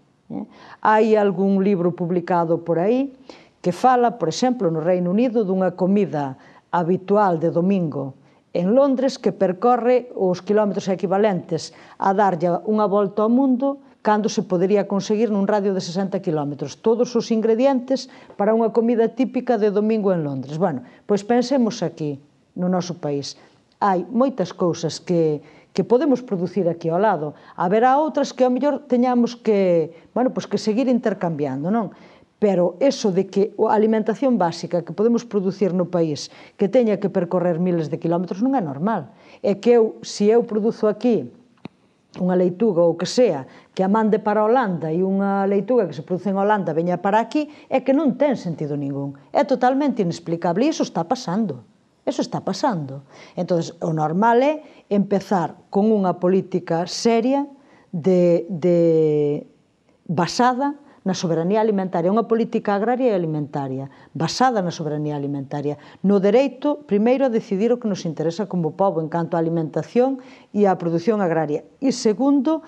[SPEAKER 3] Hai algún libro publicado por aí que fala, por exemplo, no Reino Unido, dunha comida habitual de domingo en Londres que percorre os kilómetros equivalentes a darlle unha volta ao mundo cando se podería conseguir nun radio de 60 kilómetros. Todos os ingredientes para unha comida típica de domingo en Londres. Bueno, pois pensemos aquí, no noso país. Hai moitas cousas que podemos producir aquí ao lado. Haberá outras que ao mellor teñamos que seguir intercambiando, non? Pero eso de que a alimentación básica que podemos producir no país que teña que percorrer miles de kilómetros non é normal. É que se eu produzo aquí unha leituga ou que sea que a mande para a Holanda e unha leituga que se produce en Holanda veña para aquí, é que non ten sentido ningún. É totalmente inexplicable e iso está pasando. Eso está pasando. Entón, o normal é empezar con unha política seria basada na soberanía alimentaria, unha política agraria e alimentaria, basada na soberanía alimentaria, no dereito, primeiro, a decidir o que nos interesa como pobo en canto á alimentación e á produción agraria, e segundo,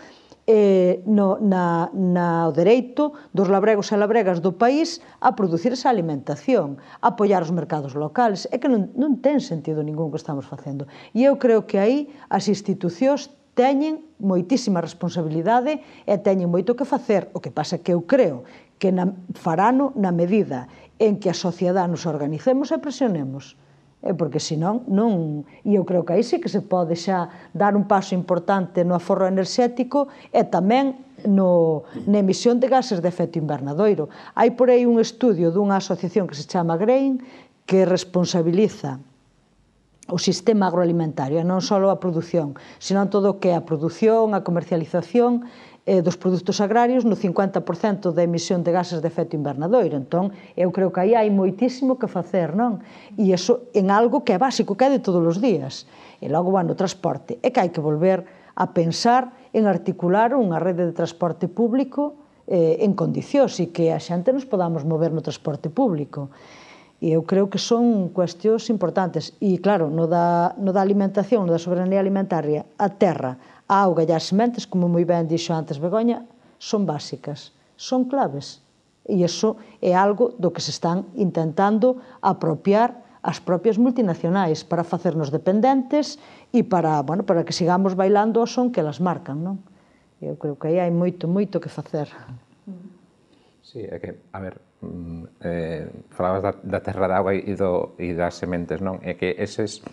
[SPEAKER 3] o dereito dos labregos e labregas do país a producir esa alimentación, a apoiar os mercados locales. É que non ten sentido ningún que estamos facendo. E eu creo que aí as institucións teñen moitísima responsabilidade e teñen moito que facer. O que pasa é que eu creo que farano na medida en que a sociedade nos organicemos e presionemos. Porque senón non... E eu creo que aí sí que se pode xa dar un paso importante no aforro enerxético e tamén na emisión de gases de efecto invernadoiro. Hai por aí un estudio dunha asociación que se chama GRAIN que responsabiliza o sistema agroalimentario, non só a produción, senón todo o que é a produción, a comercialización dos produtos agrarios no 50% da emisión de gases de efecto invernadoiro. Entón, eu creo que aí hai moitísimo que facer, non? E iso en algo que é básico, que é de todos os días. E logo, bueno, o transporte. É que hai que volver a pensar en articular unha rede de transporte público en condicións e que a xente nos podamos mover no transporte público. E eu creo que son cuestións importantes. E, claro, no da alimentación, no da soberanía alimentaria, a terra, a auga e as sementes, como moi ben dixo antes Begoña, son básicas, son claves. E iso é algo do que se están intentando apropiar as propias multinacionais para facernos dependentes e para que sigamos bailando ao son que elas marcan, non? Eu creo que aí hai moito, moito que facer.
[SPEAKER 2] Sí, é que, a ver, falabas da terra de agua e das sementes, non? É que eses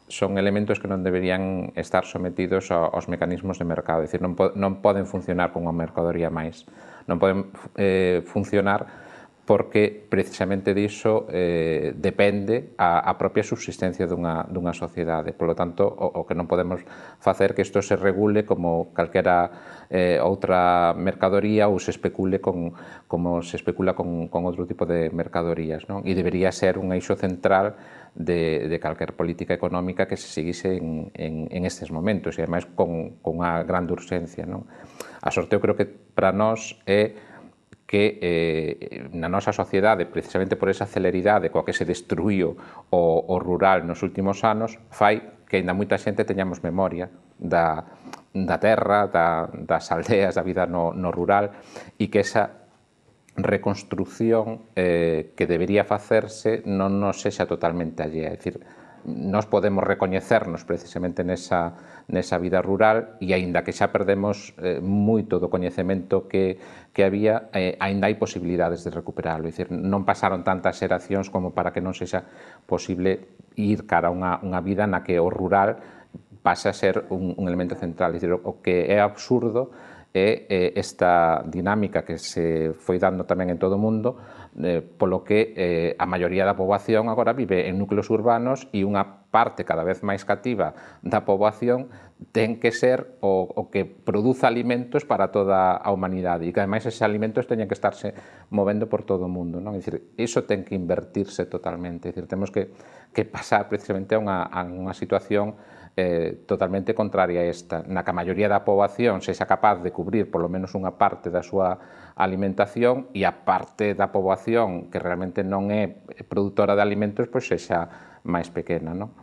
[SPEAKER 2] son elementos que non deberían estar sometidos aos mecanismos de mercado, é dicir, non poden funcionar como a mercadoría máis, non poden funcionar porque precisamente diso depende a propia subsistencia dunha sociedade. Por lo tanto, o que non podemos facer que isto se regule como calquera outra mercadoría ou se especule como se especula con outro tipo de mercadorías, non? E debería ser un eixo central de calquer política económica que se seguise en estes momentos e ademais con unha grande urxencia, non? A sorte eu creo que para nós é que na nosa sociedade, precisamente por esa celeridade coa que se destruíu o rural nos últimos anos, fai que ainda moita xente teñamos memoria da terra, das aldeas, da vida no rural, e que esa reconstrucción que debería facerse non nos sexa totalmente allea. É dicir, nós podemos recoñecernos precisamente nesa vida rural e aínda que xa perdemos moito do coñecemento que había, aínda hai posibilidades de recuperarlo. É dicir, non pasaron tantas xeracións como para que non sexa posible ir cara a unha vida na que o rural pasa a ser un elemento central. É dicir, o que é absurdo é esta dinámica que se foi dando tamén en todo o mundo, polo que a maioría da poboación agora vive en núcleos urbanos e unha parte cada vez máis cativa da poboación ten que ser o que produza alimentos para toda a humanidade e que ademais eses alimentos teñen que estarse movendo por todo o mundo, non? É dicir, iso ten que invertirse totalmente, é dicir, temos que pasar precisamente a unha situación totalmente contraria a esta, na que a maioría da poboación sexa capaz de cubrir polo menos unha parte da súa alimentación e a parte da poboación que realmente non é produtora de alimentos pois sexa máis pequena, non?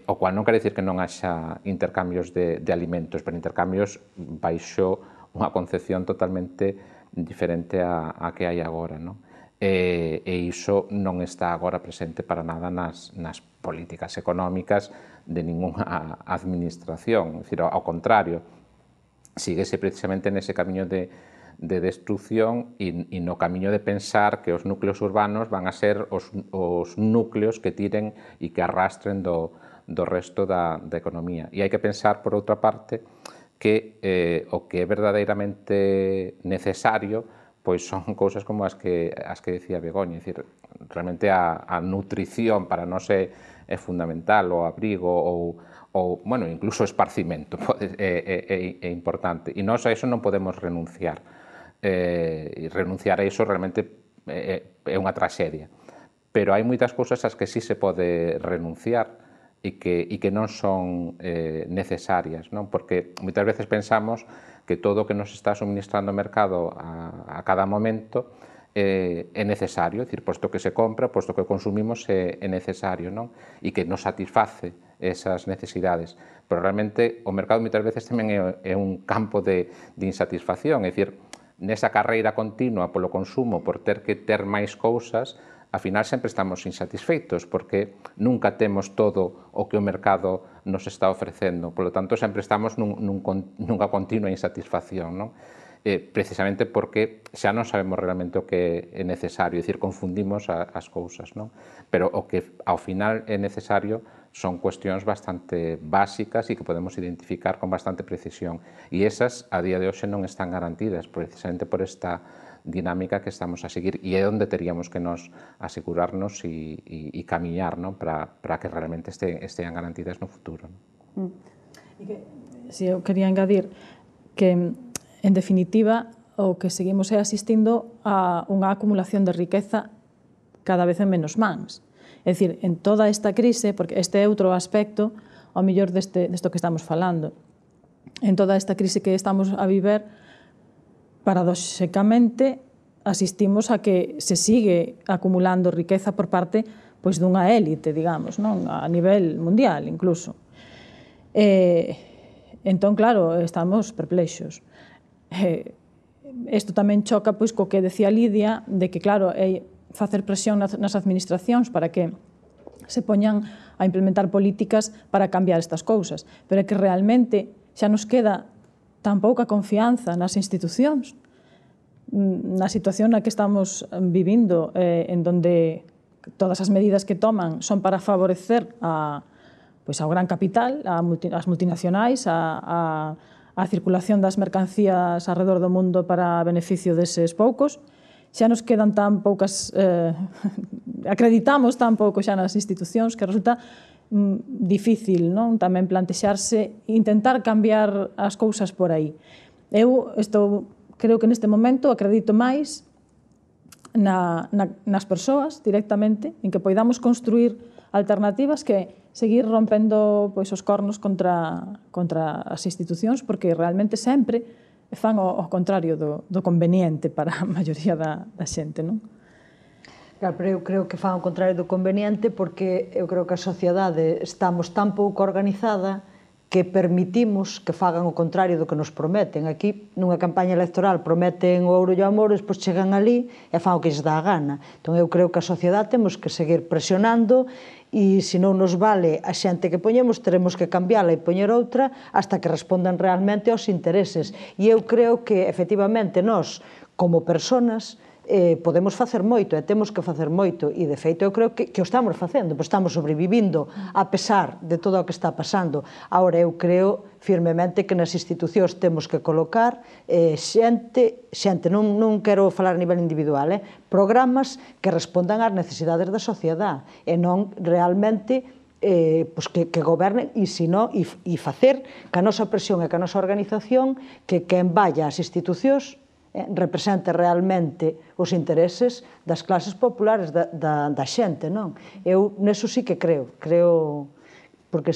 [SPEAKER 2] O cual non quere dicir que non haxa intercambios de alimentos, pero intercambios baixo unha concepción totalmente diferente a que hai agora, non? E iso non está agora presente para nada nas políticas económicas de ninguna administración. É dicir, ao contrario, síguese precisamente nese camiño de destrucción e no camiño de pensar que os núcleos urbanos van a ser os núcleos que tiren e que arrastren do resto da economía. E hai que pensar, por outra parte, que o que é verdadeiramente necesario pois son cousas como as que decía Begoña, é dicir, realmente a nutrición para nós é fundamental, o abrigo ou bueno, incluso o esparcimento é importante, e nós a iso non podemos renunciar, e renunciar a iso realmente é unha traxedia, pero hai moitas cousas ás que sí se pode renunciar e que non son necesarias, non? Porque moitas veces pensamos que todo o que nos está suministrando o mercado a cada momento é necesario, é dicir, posto que se compra, posto que consumimos é necesario, non? E que nos satisface esas necesidades. Pero realmente o mercado moitas veces tamén é un campo de insatisfacción, é dicir, nesa carreira continua polo consumo, por ter que ter máis cousas, ao final sempre estamos insatisfeitos porque nunca temos todo o que o mercado nos está ofrecendo. Por lo tanto, sempre estamos nunha continua insatisfacción, non? Precisamente porque xa non sabemos realmente o que é necesario, é dicir, confundimos as cousas, non? Pero o que ao final é necesario son cuestións bastante básicas e que podemos identificar con bastante precisión. E esas, a día de hoxe, non están garantidas, precisamente por esta dinámica que estamos a seguir, e é onde teríamos que nos asegurarnos e camiñar, non? Para que realmente estean garantidas no futuro.
[SPEAKER 4] Si eu quería engadir que, en definitiva, o que seguimos é asistindo a unha acumulación de riqueza cada vez en menos mans. É dicir, en toda esta crise, porque este é outro aspecto, ao mellor desto que estamos falando, en toda esta crise que estamos a viver, paradoxicamente asistimos a que se sigue acumulando riqueza por parte pois dunha élite, digamos, non? A nivel mundial incluso. Entón, claro, estamos perplexos. isto tamén choca pois co que decía Lidia, de que, claro, é facer presión nas administracións para que se poñan a implementar políticas para cambiar estas cousas. Pero é que realmente xa nos queda tan pouca confianza nas institucións, na situación na que estamos vivindo, en donde todas as medidas que toman son para favorecer ao gran capital, ás multinacionais, a circulación das mercancías alrededor do mundo para beneficio deses poucos. Xa nos quedan tan poucas, acreditamos tan pouco xa nas institucións que resulta difícil, non? Tamén plantexarse, intentar cambiar as cousas por aí. Eu creo que neste momento acredito máis nas persoas directamente, en que poidamos construir alternativas que seguir rompendo os cornos contra as institucións, porque realmente sempre fan o contrario do conveniente para a maioría da xente, non?
[SPEAKER 3] Claro, pero eu creo que fan o contrario do conveniente porque eu creo que a sociedade estamos tan pouco organizada que permitimos que fagan o contrario do que nos prometen. Aquí, nunha campaña electoral, prometen o ouro e o amor, despois chegan ali e fan o que lles dá a gana. Entón, eu creo que a sociedade temos que seguir presionando e, se non nos vale a xente que poñemos, teremos que cambiála e poñer outra hasta que respondan realmente aos intereses. E eu creo que, efectivamente, nós, como personas, podemos facer moito e temos que facer moito e de feito eu creo que o estamos facendo, pois estamos sobrevivindo a pesar de todo o que está pasando. Agora eu creo firmemente que nas institucións temos que colocar xente, non quero falar a nivel individual, programas que respondan ás necesidades da sociedade e non realmente que gobernen e facer que a nosa presión e que a nosa organización que quen vaya ás institucións represente realmente os intereses das clases populares da xente, non? Eu neso sí que creo, porque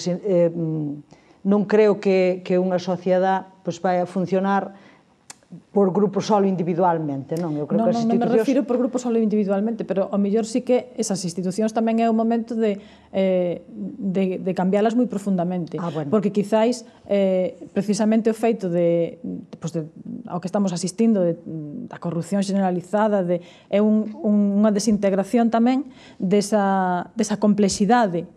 [SPEAKER 3] non creo que unha sociedade vai a funcionar por grupo solo individualmente, non? Eu creo que as institucións...
[SPEAKER 4] Non me refiro por grupo solo individualmente, pero ao mellor sí que esas institucións tamén é o momento de cambiálas moi profundamente. Porque quizáis, precisamente o feito ao que estamos asistindo, da corrupción generalizada, é unha desintegración tamén desa complexidade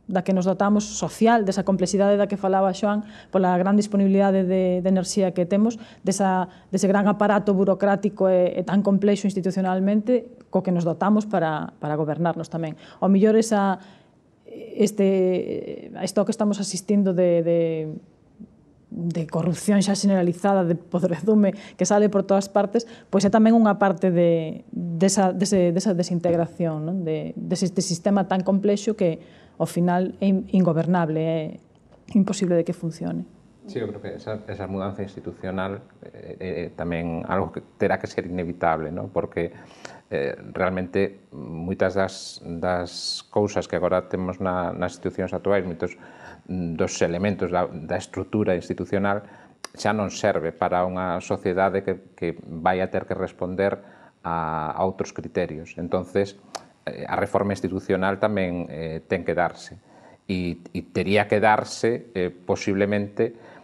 [SPEAKER 4] da que nos dotamos social, desa complexidade da que falaba Xoán, pola gran disponibilidade de enerxía que temos, dese gran aparato burocrático e tan complexo institucionalmente co que nos dotamos para gobernarnos tamén. Ao mellor isto que estamos asistindo de corrupción xa generalizada, de podredume que sale por todas partes, pois é tamén unha parte desa desintegración, deste sistema tan complexo que ao final é ingobernable, é imposible de que funcione.
[SPEAKER 2] Sí, eu creo que esa mudanza institucional é tamén algo que terá que ser inevitable, non? Porque realmente moitas das cousas que agora temos nas institucións actuais, moitos dos elementos da estrutura institucional xa non serve para unha sociedade que vai a ter que responder a outros criterios. Entonces, a reforma institucional tamén ten que darse e tería que darse posiblemente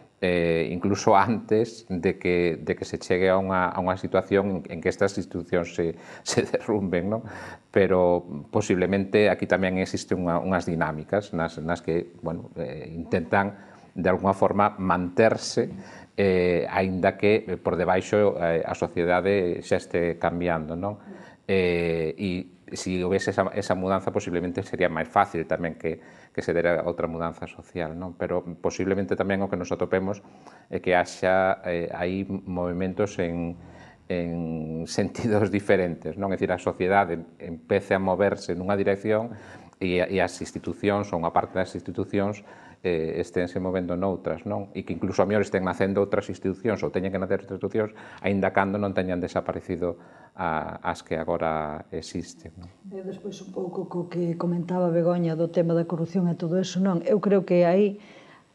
[SPEAKER 2] incluso antes de que se chegue a unha situación en que estas institucións se derrumben, non? Pero posiblemente aquí tamén existen unhas dinámicas nas que intentan de alguna forma manterse aínda que por debaixo a sociedade xa este cambiando, non? E se houvese esa mudanza, posiblemente sería máis fácil tamén que se dera outra mudanza social, non? Pero posiblemente tamén o que nos atopemos é que haxa aí movimentos en sentidos diferentes, non? É dicir, a sociedade empece a moverse nunha dirección e as institucións, ou unha parte das institucións, esténse movendo noutras, non? E que incluso a mellor estén nacendo outras institucións ou teñen que nacer outras institucións, aínda cando non teñan desaparecido as que agora existen.
[SPEAKER 3] E despois un pouco co que comentaba Begoña do tema da corrupción e todo eso, non? Eu creo que aí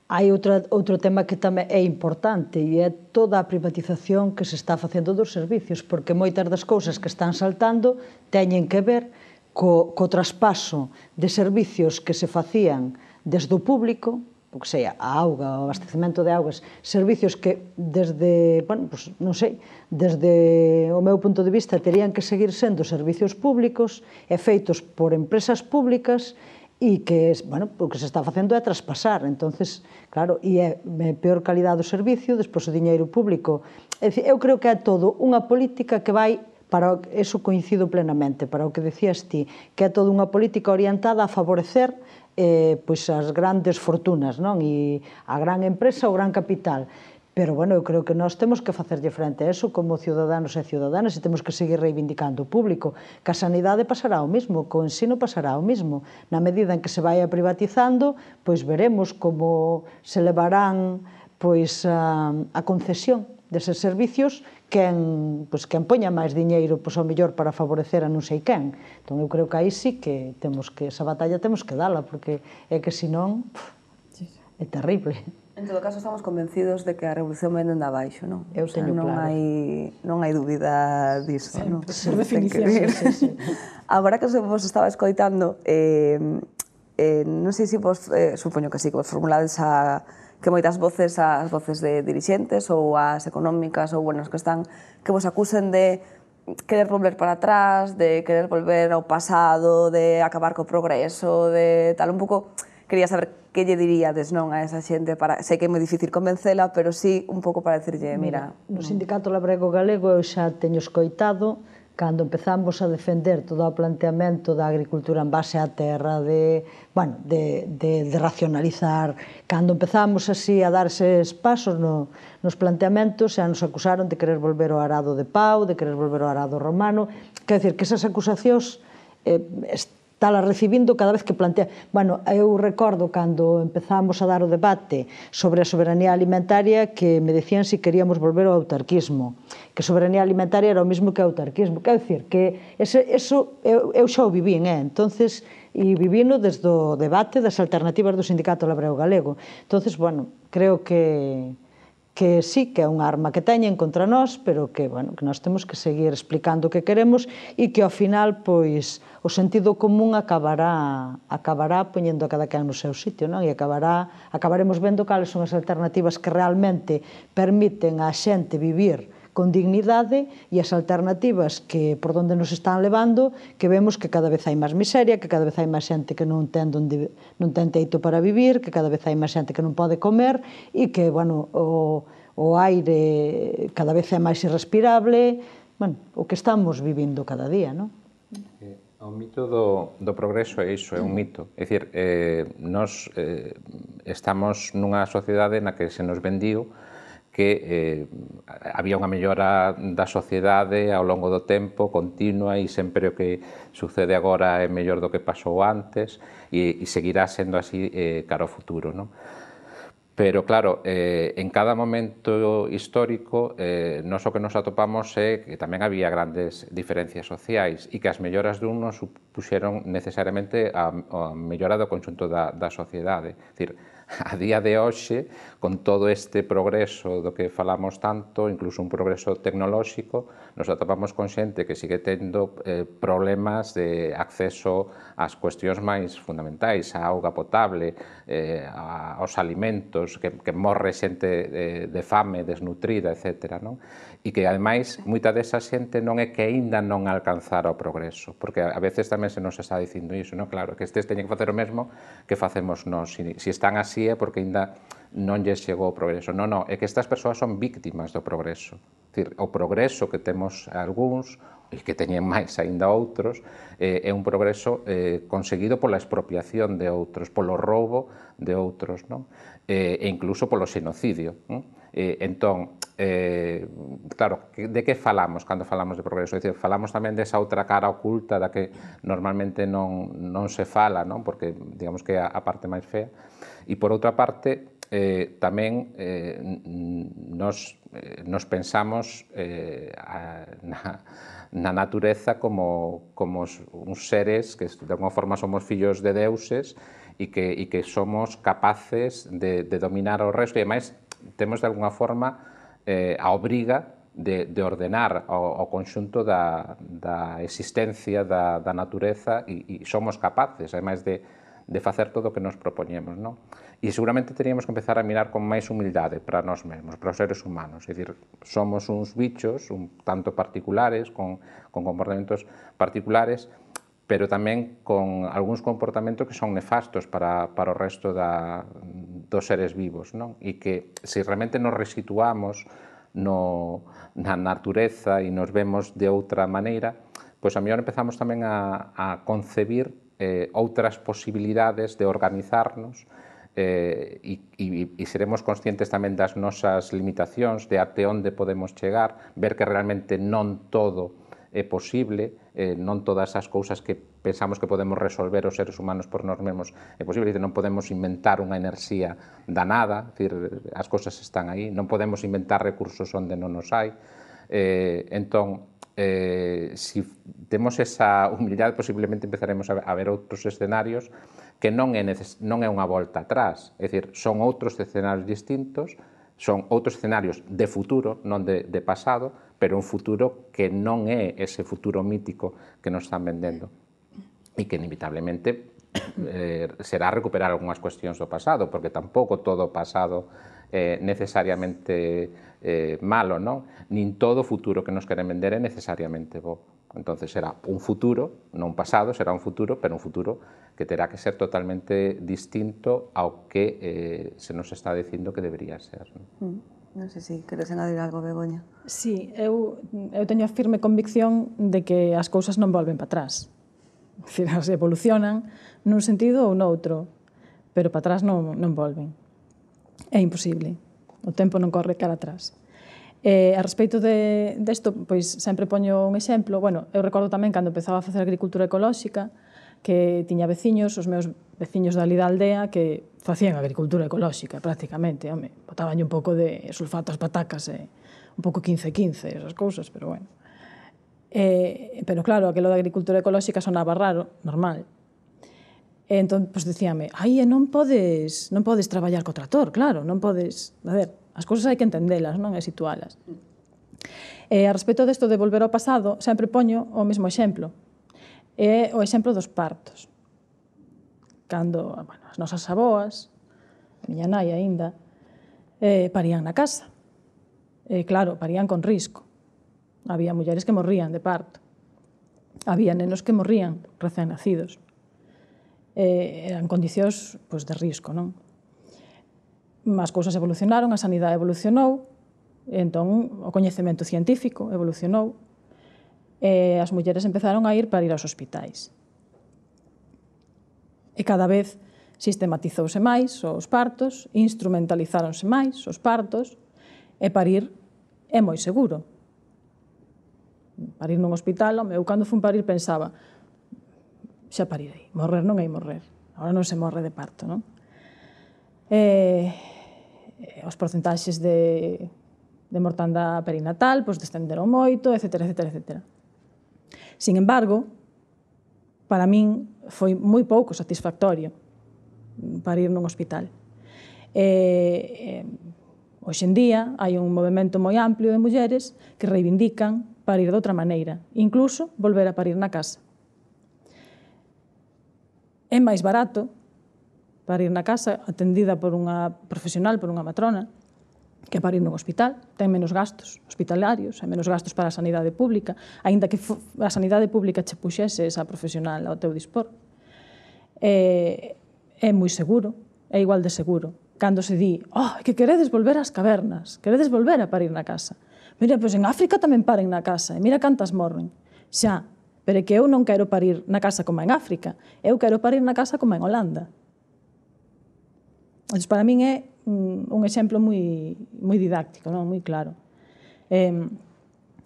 [SPEAKER 3] hai outro tema que tamén é importante e é toda a privatización que se está facendo dos servicios, porque moitas das cousas que están saltando teñen que ver co traspaso de servicios que se facían desde o público, o que sei, a auga, o abastecemento de augas, servicios que desde, bueno, pues, non sei, desde o meu punto de vista terían que seguir sendo servicios públicos e feitos por empresas públicas e que, bueno, o que se está facendo é traspasar. Entonces, claro, e é peor calidade do servicio, despois o diñeiro público. É dicir, eu creo que é todo unha política que vai para eso coincido plenamente, para o que decías ti, que é toda unha política orientada a favorecer pois as grandes fortunas, non? E a gran empresa, o gran capital. Pero, bueno, eu creo que nós temos que facerlle frente a eso como ciudadanos e ciudadanas e temos que seguir reivindicando o público. Que a sanidade pasará o mismo, que o ensino pasará o mismo. Na medida en que se vai privatizando, pois veremos como se levarán pois a concesión deses servicios quen poña máis diñeiro ao mellor para favorecer a non sei quen. Entón eu creo que aí sí que temos que, esa batalla temos que dala, porque é que senón é terrible.
[SPEAKER 1] En todo caso, estamos convencidos de que a revolución vem dende abaixo, non?
[SPEAKER 3] Eu teño claro.
[SPEAKER 1] Non hai dúbida disso, non?
[SPEAKER 4] Por definición.
[SPEAKER 1] Agora que vos estaba escoitando, non sei se vos, supoño que sí, que vos formulades que moitas voces, as voces de dirixentes ou as económicas ou buenas que están, que vos acusen de querer volver para atrás, de querer volver ao pasado, de acabar co progreso, de tal, un pouco, quería saber que lle diríades, non, a esa xente, sei que é moi difícil convencela, pero sí un pouco para decirlle, mira...
[SPEAKER 3] No Sindicato Labrego Galego eu xa teño escoitado cando empezamos a defender todo o planteamento da agricultura en base á terra, de racionalizar, cando empezamos así a dar eses pasos nos planteamentos, xa nos acusaron de querer volver ao arado de pau, de querer volver ao arado romano, quer dizer, que esas acusacións estala recibindo cada vez que plantea... Bueno, eu recordo cando empezamos a dar o debate sobre a soberanía alimentaria que me decían se queríamos volver ao autarquismo, que soberanía alimentaria era o mesmo que autarquismo. Quer dizer, que eso eu xa o vivín, entonces, e vivino desde o debate das alternativas do Sindicato Labrego Galego. Entonces, bueno, creo que sí, que é unha arma que teñen contra nós, pero que, bueno, que nós temos que seguir explicando o que queremos e que ao final, pois, o sentido común acabará poñendo a cada quen no seu sitio, non? E acabaremos vendo cales son as alternativas que realmente permiten a xente vivir con dignidade e as alternativas que por onde nos están levando, que vemos que cada vez hai máis miseria, que cada vez hai máis xente que non ten teito para vivir, que cada vez hai máis xente que non pode comer e que, bueno, o aire cada vez é máis irrespirable, bueno, o que estamos vivindo cada día, non?
[SPEAKER 2] O mito do progreso é iso, é un mito. É dicir, nós estamos nunha sociedade na que se nos vendiu que había unha mellora da sociedade ao longo do tempo, continua, e sempre o que sucede agora é mellor do que pasou antes e seguirá sendo así cara ao futuro, non? Pero, claro, en cada momento histórico, nós o que nos atopamos é que tamén había grandes diferencias sociais e que as melloras dun non supuxeron necesariamente a mellora do conxunto da sociedade. É dicir, a día de hoxe, con todo este progreso do que falamos tanto, incluso un progreso tecnolóxico, nos atopamos con xente que sigue tendo problemas de acceso ás cuestións máis fundamentais, a auga potable, aos alimentos, que morre xente de fame, desnutrida, etc. E que, ademais, moita desa xente non é que aínda non alcanzara o progreso, porque a veces tamén se nos está dicindo iso, claro, que estes teñen que facer o mesmo que facemos nós. Se están así é porque aínda non lles chegou o progreso. Non, é que estas persoas son víctimas do progreso. O progreso que temos algúns, e que teñen máis aínda outros, é un progreso conseguido pola expropiación de outros, polo roubo de outros, e incluso polo xenocidio. Entón, claro, de que falamos cando falamos de progreso? É dicir, falamos tamén desa outra cara oculta da que normalmente non se fala, porque digamos que é a parte máis fea. E por outra parte, tamén nos pensamos na natureza como uns seres que de alguma forma somos fillos de deuses e que somos capaces de dominar o resto, e ademais temos de alguna forma a obriga de ordenar o conxunto da existencia da natureza, e somos capaces, ademais de facer todo o que nos propoñemos, non? E seguramente teríamos que empezar a mirar con máis humildade para nós mesmos, para os seres humanos. É dicir, somos uns bichos un tanto particulares, con comportamentos particulares, pero tamén con algúns comportamentos que son nefastos para o resto dos seres vivos, non? E que, se realmente nos resituamos na natureza e nos vemos de outra maneira, pois a mellor empezamos tamén a concebir outras posibilidades de organizarnos e seremos conscientes tamén das nosas limitacións, de até onde podemos chegar, ver que realmente non todo é posible, non todas as cousas que pensamos que podemos resolver os seres humanos por nós mesmos é posible, non podemos inventar unha enerxía da nada, as cousas están aí, non podemos inventar recursos onde non os hai, entón, se temos esa humildade, posiblemente empezaremos a ver outros escenarios que non é unha volta atrás, é dicir, son outros escenarios distintos, son outros escenarios de futuro, non de pasado, pero un futuro que non é ese futuro mítico que nos están vendendo e que inevitablemente será recuperar algunhas cuestións do pasado, porque tampouco todo o pasado é necesariamente malo, non? Nin todo o futuro que nos queren vender é necesariamente bo. Entón, será un futuro, non un pasado, será un futuro, pero un futuro que terá que ser totalmente distinto ao que se nos está dicindo que debería ser.
[SPEAKER 1] Non sei se queres engadir algo, Begoña.
[SPEAKER 4] Sí, eu teño a firme convicción de que as cousas non volven para atrás. As evolucionan nun sentido ou noutro, pero para atrás non volven. É imposible. O tempo non corre cara atrás. A respecto desto, pois sempre poño un exemplo. Bueno, eu recordo tamén cando empezaba a facer agricultura ecolóxica, que tiña veciños, os meus veciños dali da aldea, que facían agricultura ecolóxica, prácticamente. Botaban un pouco de sulfato ás patacas, un pouco 15-15, esas cousas, pero bueno. Pero claro, aquilo da agricultura ecolóxica sonaba raro, normal. Entón, pois dicíame, non podes traballar co trator, claro, non podes... A ver, as cousas hai que entendelas, non? E situalas. A respecto desto de volver ao pasado, sempre poño o mesmo exemplo. É o exemplo dos partos. Cando as nosas aboas, a miña nai aínda, parían na casa. Claro, parían con risco. Había mulleres que morrían de parto. Había nenos que morrían recén nacidos. Eran condicións de risco, non? As cousas evolucionaron, a sanidade evolucionou, entón o coñecemento científico evolucionou, e as mulleres empezaron a ir aos hospitais. E cada vez sistematizouse máis os partos, instrumentalizáronse máis os partos, e parir é moi seguro. Parir nun hospital, eu cando fun parir pensaba, xa parirei, morrer non hai morrer, agora non se morre de parto, non? Os porcentaxes de mortandade perinatal descenderon moito, etcétera, etcétera, etcétera. Sin embargo, para min foi moi pouco satisfactorio parir nun hospital. Hoxe en día hai un movemento moi amplio de mulleres que reivindican parir de outra maneira, incluso volver a parir na casa. É máis barato parir na casa, atendida por unha profesional, por unha matrona, que parir nun hospital. Ten menos gastos hospitalarios, hai menos gastos para a sanidade pública, aínda que a sanidade pública che puxese esa profesional ao teu dispor. É moi seguro, é igual de seguro. Cando se di, que queredes volver ás cavernas, queredes volver a parir na casa. Mira, pois en África tamén paren na casa, e mira cantas morren. Xa, pero é que eu non quero parir na casa como en África, eu quero parir na casa como en Holanda. Entón, para min é un exemplo moi didáctico, moi claro.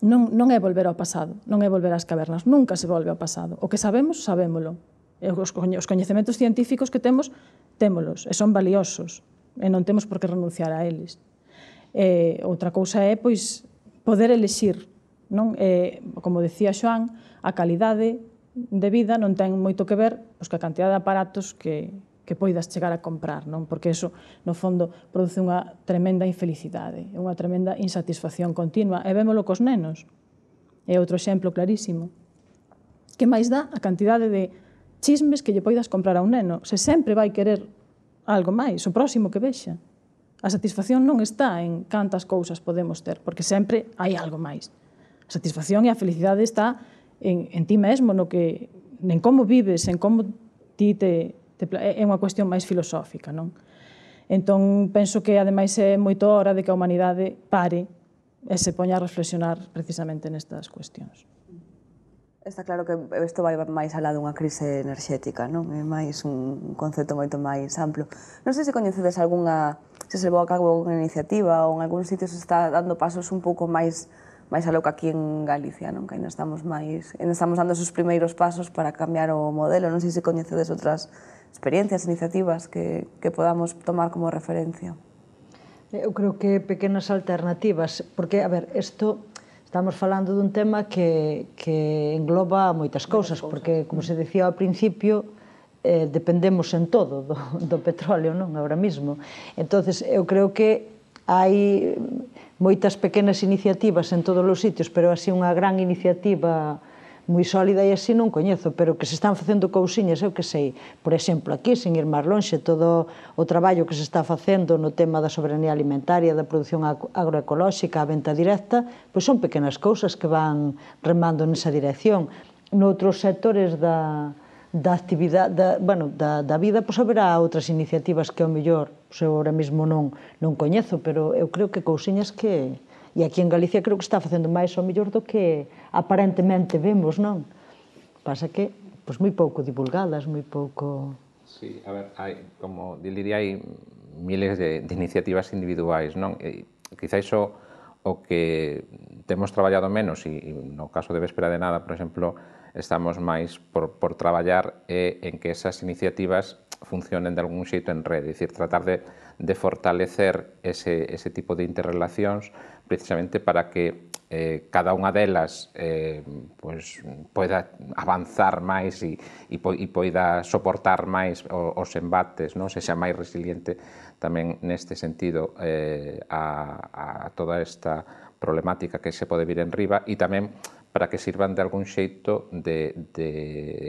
[SPEAKER 4] Non é volver ao pasado, non é volver ás cavernas, nunca se volve ao pasado. O que sabemos, sabémolo. Os coñecementos científicos que temos, témolos, e son valiosos, e non temos por que renunciar a eles. Outra cousa é, pois, poder elixir, non? Como decía Xoán, a calidade de vida non ten moito que ver coa cantidad de aparatos que poidas chegar a comprar, non? Porque iso, no fondo, produce unha tremenda infelicidade, unha tremenda insatisfacción continua, e vémolo cos nenos. É outro exemplo clarísimo. Que máis dá a cantidade de chismes que lle poidas comprar a un neno. Se sempre vai querer algo máis, o próximo que vexa. A satisfacción non está en cantas cousas podemos ter, porque sempre hai algo máis. A satisfacción e a felicidade está en ti mesmo, en como vives, en como ti é unha cuestión máis filosófica, non? Entón, penso que, ademais, é moito hora de que a humanidade pare e se poña a reflexionar precisamente nestas cuestións.
[SPEAKER 1] Está claro que isto vai máis alá dunha crise enerxética, non? É máis un concepto moito máis amplo. Non sei se coñecedes se se levou a cabo unha iniciativa ou en algún sitio se está dando pasos un pouco máis aló que aquí en Galicia, non? Que ainda estamos dando esos primeiros pasos para cambiar o modelo. Non sei se coñecedes outras experiencias, iniciativas que podamos tomar como referencia.
[SPEAKER 3] Eu creo que pequenas alternativas, porque, a ver, estamos falando dun tema que engloba moitas cousas, porque, como se decía ao principio, dependemos en todo do petróleo, non? Ahora mismo. Entonces, eu creo que hai moitas pequenas iniciativas en todos os sitios, pero así unha gran iniciativa moi sólida e así non coñezo, pero que se están facendo cousiñas, eu que sei, por exemplo, aquí, sin ir máis lonxe, todo o traballo que se está facendo no tema da soberanía alimentaria, da produción agroecolóxica, a venta directa, pois son pequenas cousas que van remando nesa dirección. Noutros sectores da actividade, da vida, pois haberá outras iniciativas que ao mellor, eu ahora mesmo non coñezo, pero eu creo que cousiñas que... E aquí en Galicia creo que está facendo máis ao mellor do que aparentemente vemos, non? Pasa que, pois, moi pouco divulgadas, moi pouco...
[SPEAKER 2] Sí, a ver, como diría, hai miles de iniciativas individuais, non? Quizá iso o que temos traballado menos, e no caso de Véspera de Nada, por exemplo, estamos máis por traballar en que esas iniciativas funcionen de algún xeito en rede, é dicir, tratar de fortalecer ese tipo de interrelacións precisamente para que cada unha delas poida avanzar máis e poida soportar máis os embates, sexa máis resiliente tamén neste sentido a toda esta problemática que se pode vir en riba, e tamén para que sirvan de algún xeito de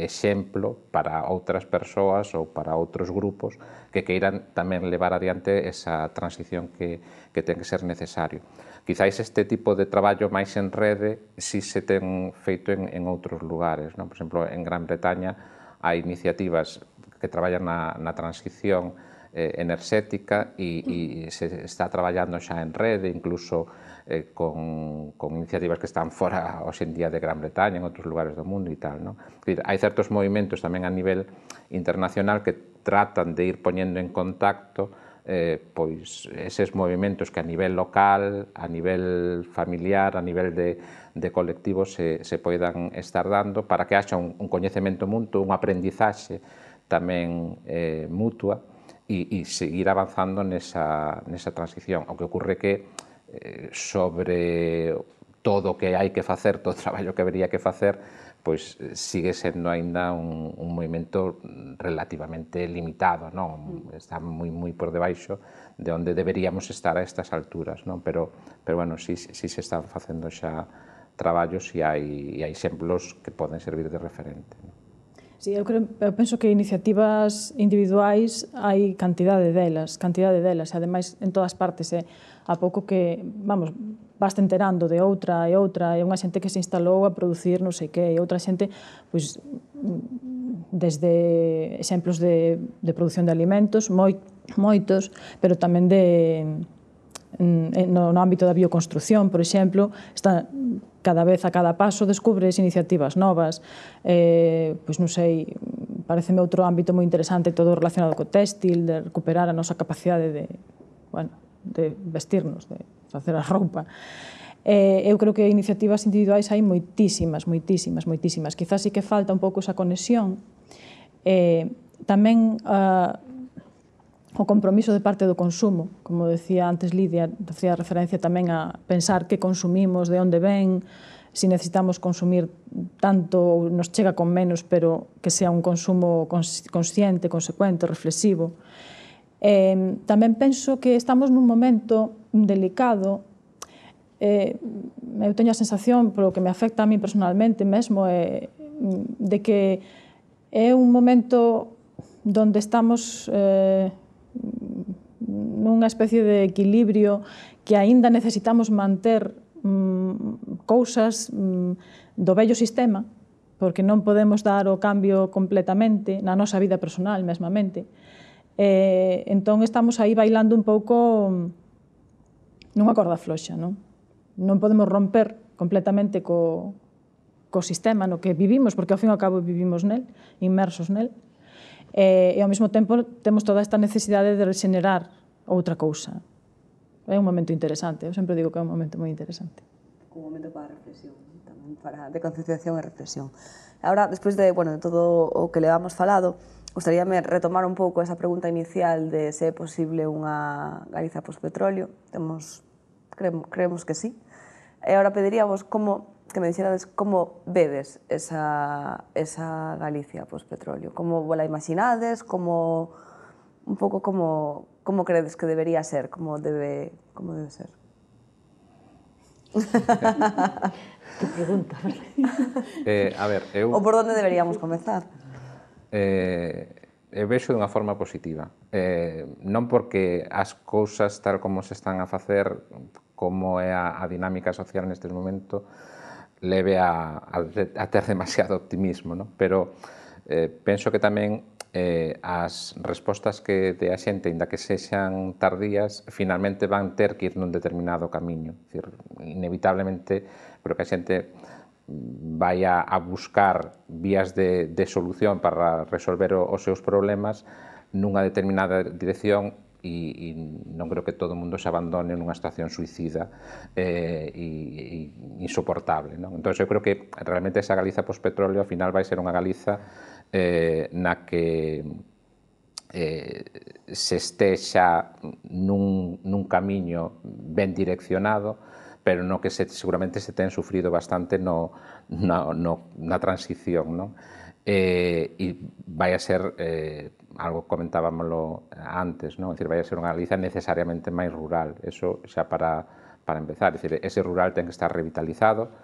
[SPEAKER 2] exemplo para outras persoas ou para outros grupos que queiran tamén levar adiante esa transición que ten que ser necesario. Quizáis este tipo de traballo máis en rede si se ten feito en outros lugares. Por exemplo, en Gran Bretaña hai iniciativas que traballan na transición enerxética e se está traballando xa en rede, incluso con iniciativas que están fora hoxe en día de Gran Bretaña, en outros lugares do mundo e tal. Hai certos movimentos tamén a nivel internacional que tratan de ir poñendo en contacto pois eses movimentos que a nivel local, a nivel familiar, a nivel de colectivo se poidan estar dando para que haxa un coñecemento mutuo, unha aprendizaxe tamén mutua e seguir avanzando nesa transición. O que ocorre que sobre todo o que hai que facer, todo o traballo que habería que facer, pois sigue sendo aínda un movimento relativamente limitado, está moi por debaixo de onde deberíamos estar a estas alturas, pero bueno, si se están facendo xa traballos e hai exemplos que poden servir de referente.
[SPEAKER 4] Sí, eu penso que iniciativas individuais hai cantidade delas, e ademais en todas partes, a pouco que, vas enterando de outra e outra, e unha xente que se instalou a producir non sei que, e outra xente, pois, desde exemplos de produción de alimentos, moitos, pero tamén no ámbito da bioconstrucción, por exemplo, está cada vez a cada paso descubres iniciativas novas, pois non sei, pareceme outro ámbito moi interesante todo relacionado co téxtil, de recuperar a nosa capacidade de vestirnos, de facer a roupa. Eu creo que iniciativas individuais hai moitísimas. Quizás sí que falta un pouco esa conexión. Tamén o compromiso de parte do consumo, como decía antes Lidia, facía referencia tamén a pensar que consumimos, de onde ven, si necesitamos consumir tanto, nos chega con menos, pero que sea un consumo consciente, consecuente, reflexivo. Tamén penso que estamos nun momento delicado, eu teño a sensación, polo que me afecta a mí personalmente mesmo, de que É un momento onde estamos nunha especie de equilibrio que aínda necesitamos manter cousas do vello sistema, porque non podemos dar o cambio completamente na nosa vida personal, mesmamente. Entón, estamos aí bailando un pouco nunha corda floxa, non? Non podemos romper completamente co sistema no que vivimos, porque ao fin e ao cabo vivimos nel, inmersos nel, e ao mesmo tempo temos toda esta necesidade de regenerar outra cousa. É un momento interesante, eu sempre digo que é un momento moi interesante.
[SPEAKER 1] Un momento para reflexión, tamén de concienciación e reflexión. Ahora, despois de todo o que levamos falado, gustaríame retomar un pouco esa pregunta inicial de se é posible unha Galiza post-petróleo. Creemos que sí. E agora pediríamos que me dixerades como vedes esa Galicia post-petróleo. Como la imaginades, un pouco como credes que debería ser, como debe ser.
[SPEAKER 3] Que pregunta.
[SPEAKER 2] A ver, eu...
[SPEAKER 1] Ou por onde deberíamos comezar?
[SPEAKER 2] Eu vexo dunha forma positiva. Non porque as cousas tal como se están a facer, como é a dinámica social neste momento, leve a ter demasiado optimismo, non? Pero penso que tamén as respostas que dé a xente, inda que sexan tardías, finalmente van ter que ir nun determinado camiño. Dicir, inevitablemente, creo que a xente vai a buscar vías de solución para resolver os seus problemas nunha determinada dirección e non creo que todo o mundo se abandone nunha situación suicida e insoportable, non? Entón, eu creo que realmente esa Galiza post-petróleo ao final vai ser unha Galiza na que se estexa nun camiño ben direccionado, pero no que seguramente se ten sufrido bastante na transición, non? E vai a ser, algo comentábamoslo antes, non? É dicir, vai a ser unha Galiza necesariamente máis rural, eso xa para empezar, é dicir, ese rural ten que estar revitalizado,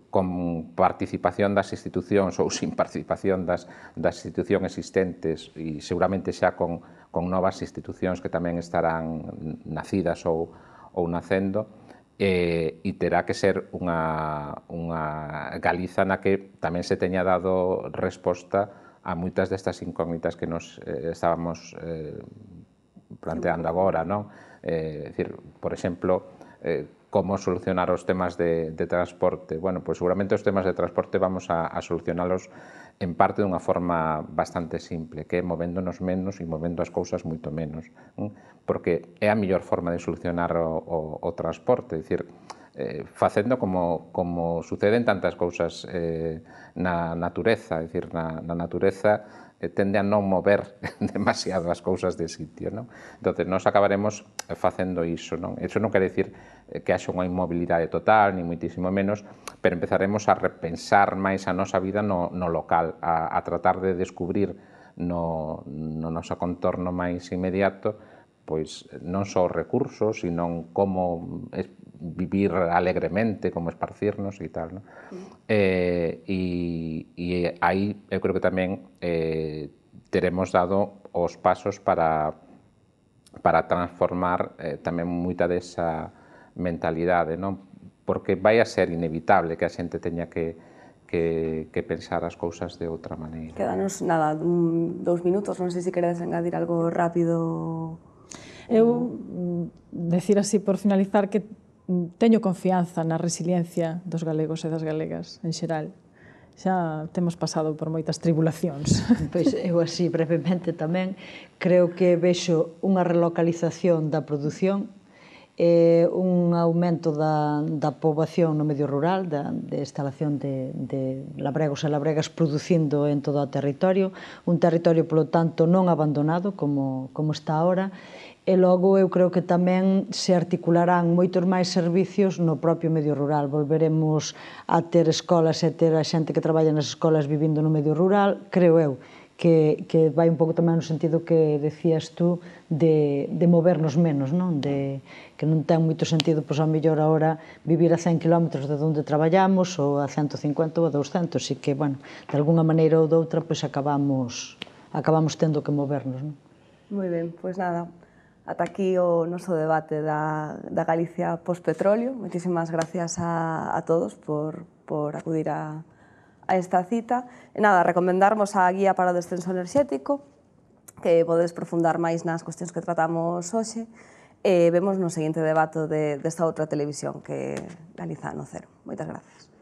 [SPEAKER 2] con participación das institucións ou sin participación das institucións existentes e seguramente xa con novas institucións que tamén estarán nacidas ou nacendo, e terá que ser unha Galiza na que tamén se teña dado resposta a moitas destas incógnitas que nos estábamos planteando agora, non? É dicir, por exemplo, como solucionar os temas de transporte. Bueno, pois seguramente os temas de transporte vamos a solucionalos en parte dunha forma bastante simple, que é movéndonos menos e movendo as cousas moito menos, porque é a mellor forma de solucionar o transporte, é dicir, facendo como suceden tantas cousas na natureza, é dicir, na natureza tende a non mover demasiado as cousas de sitio, non? Entón, nós acabaremos facendo iso, non? Iso non quere dicir que haxa unha inmobilidade total, ni moitísimo menos, pero empezaremos a repensar máis a nosa vida no local, a tratar de descubrir no noso contorno máis inmediato, pois non só os recursos, sino como vivir alegremente, como esparcirnos e tal, non? E aí eu creo que tamén teremos dado os pasos para transformar tamén moita desa mentalidade, non? Porque vai a ser inevitable que a xente teña que pensar as cousas de outra maneira.
[SPEAKER 1] Quedanos, nada, 2 minutos, non sei se queredes engadir algo rápido.
[SPEAKER 4] Eu, decir así por finalizar, que teño confianza na resiliencia dos galegos e das galegas en xeral. Xa temos pasado por moitas tribulacións.
[SPEAKER 3] Pois eu así brevemente tamén creo que vexo unha relocalización da produción, un aumento da poboación no medio rural, de instalación de labregos e labregas producindo en todo o territorio, un territorio, polo tanto, non abandonado como está ahora, e logo eu creo que tamén se articularán moitos máis servicios no propio medio rural. Volveremos a ter escolas e ter a xente que traballa nas escolas vivindo no medio rural, creo eu, que vai un pouco tamén no sentido que decías tú de movernos menos, non? Que non ten moito sentido, pois, ao mellor agora vivir a 100 km de onde traballamos ou a 150 ou a 200, e que, bueno, de alguna maneira ou doutra, pois acabamos tendo que movernos, non?
[SPEAKER 1] Moi ben, pois nada, ata aquí o noso debate da Galicia post-petróleo. Moitísimas gracias a todos por acudir a esta cita. E nada, recomendarmos a guía para o descenso enerxético, que podedes profundar máis nas cuestións que tratamos hoxe, e vemos no seguinte debate desta outra televisión, que é Galiza no Cero. Moitas gracias.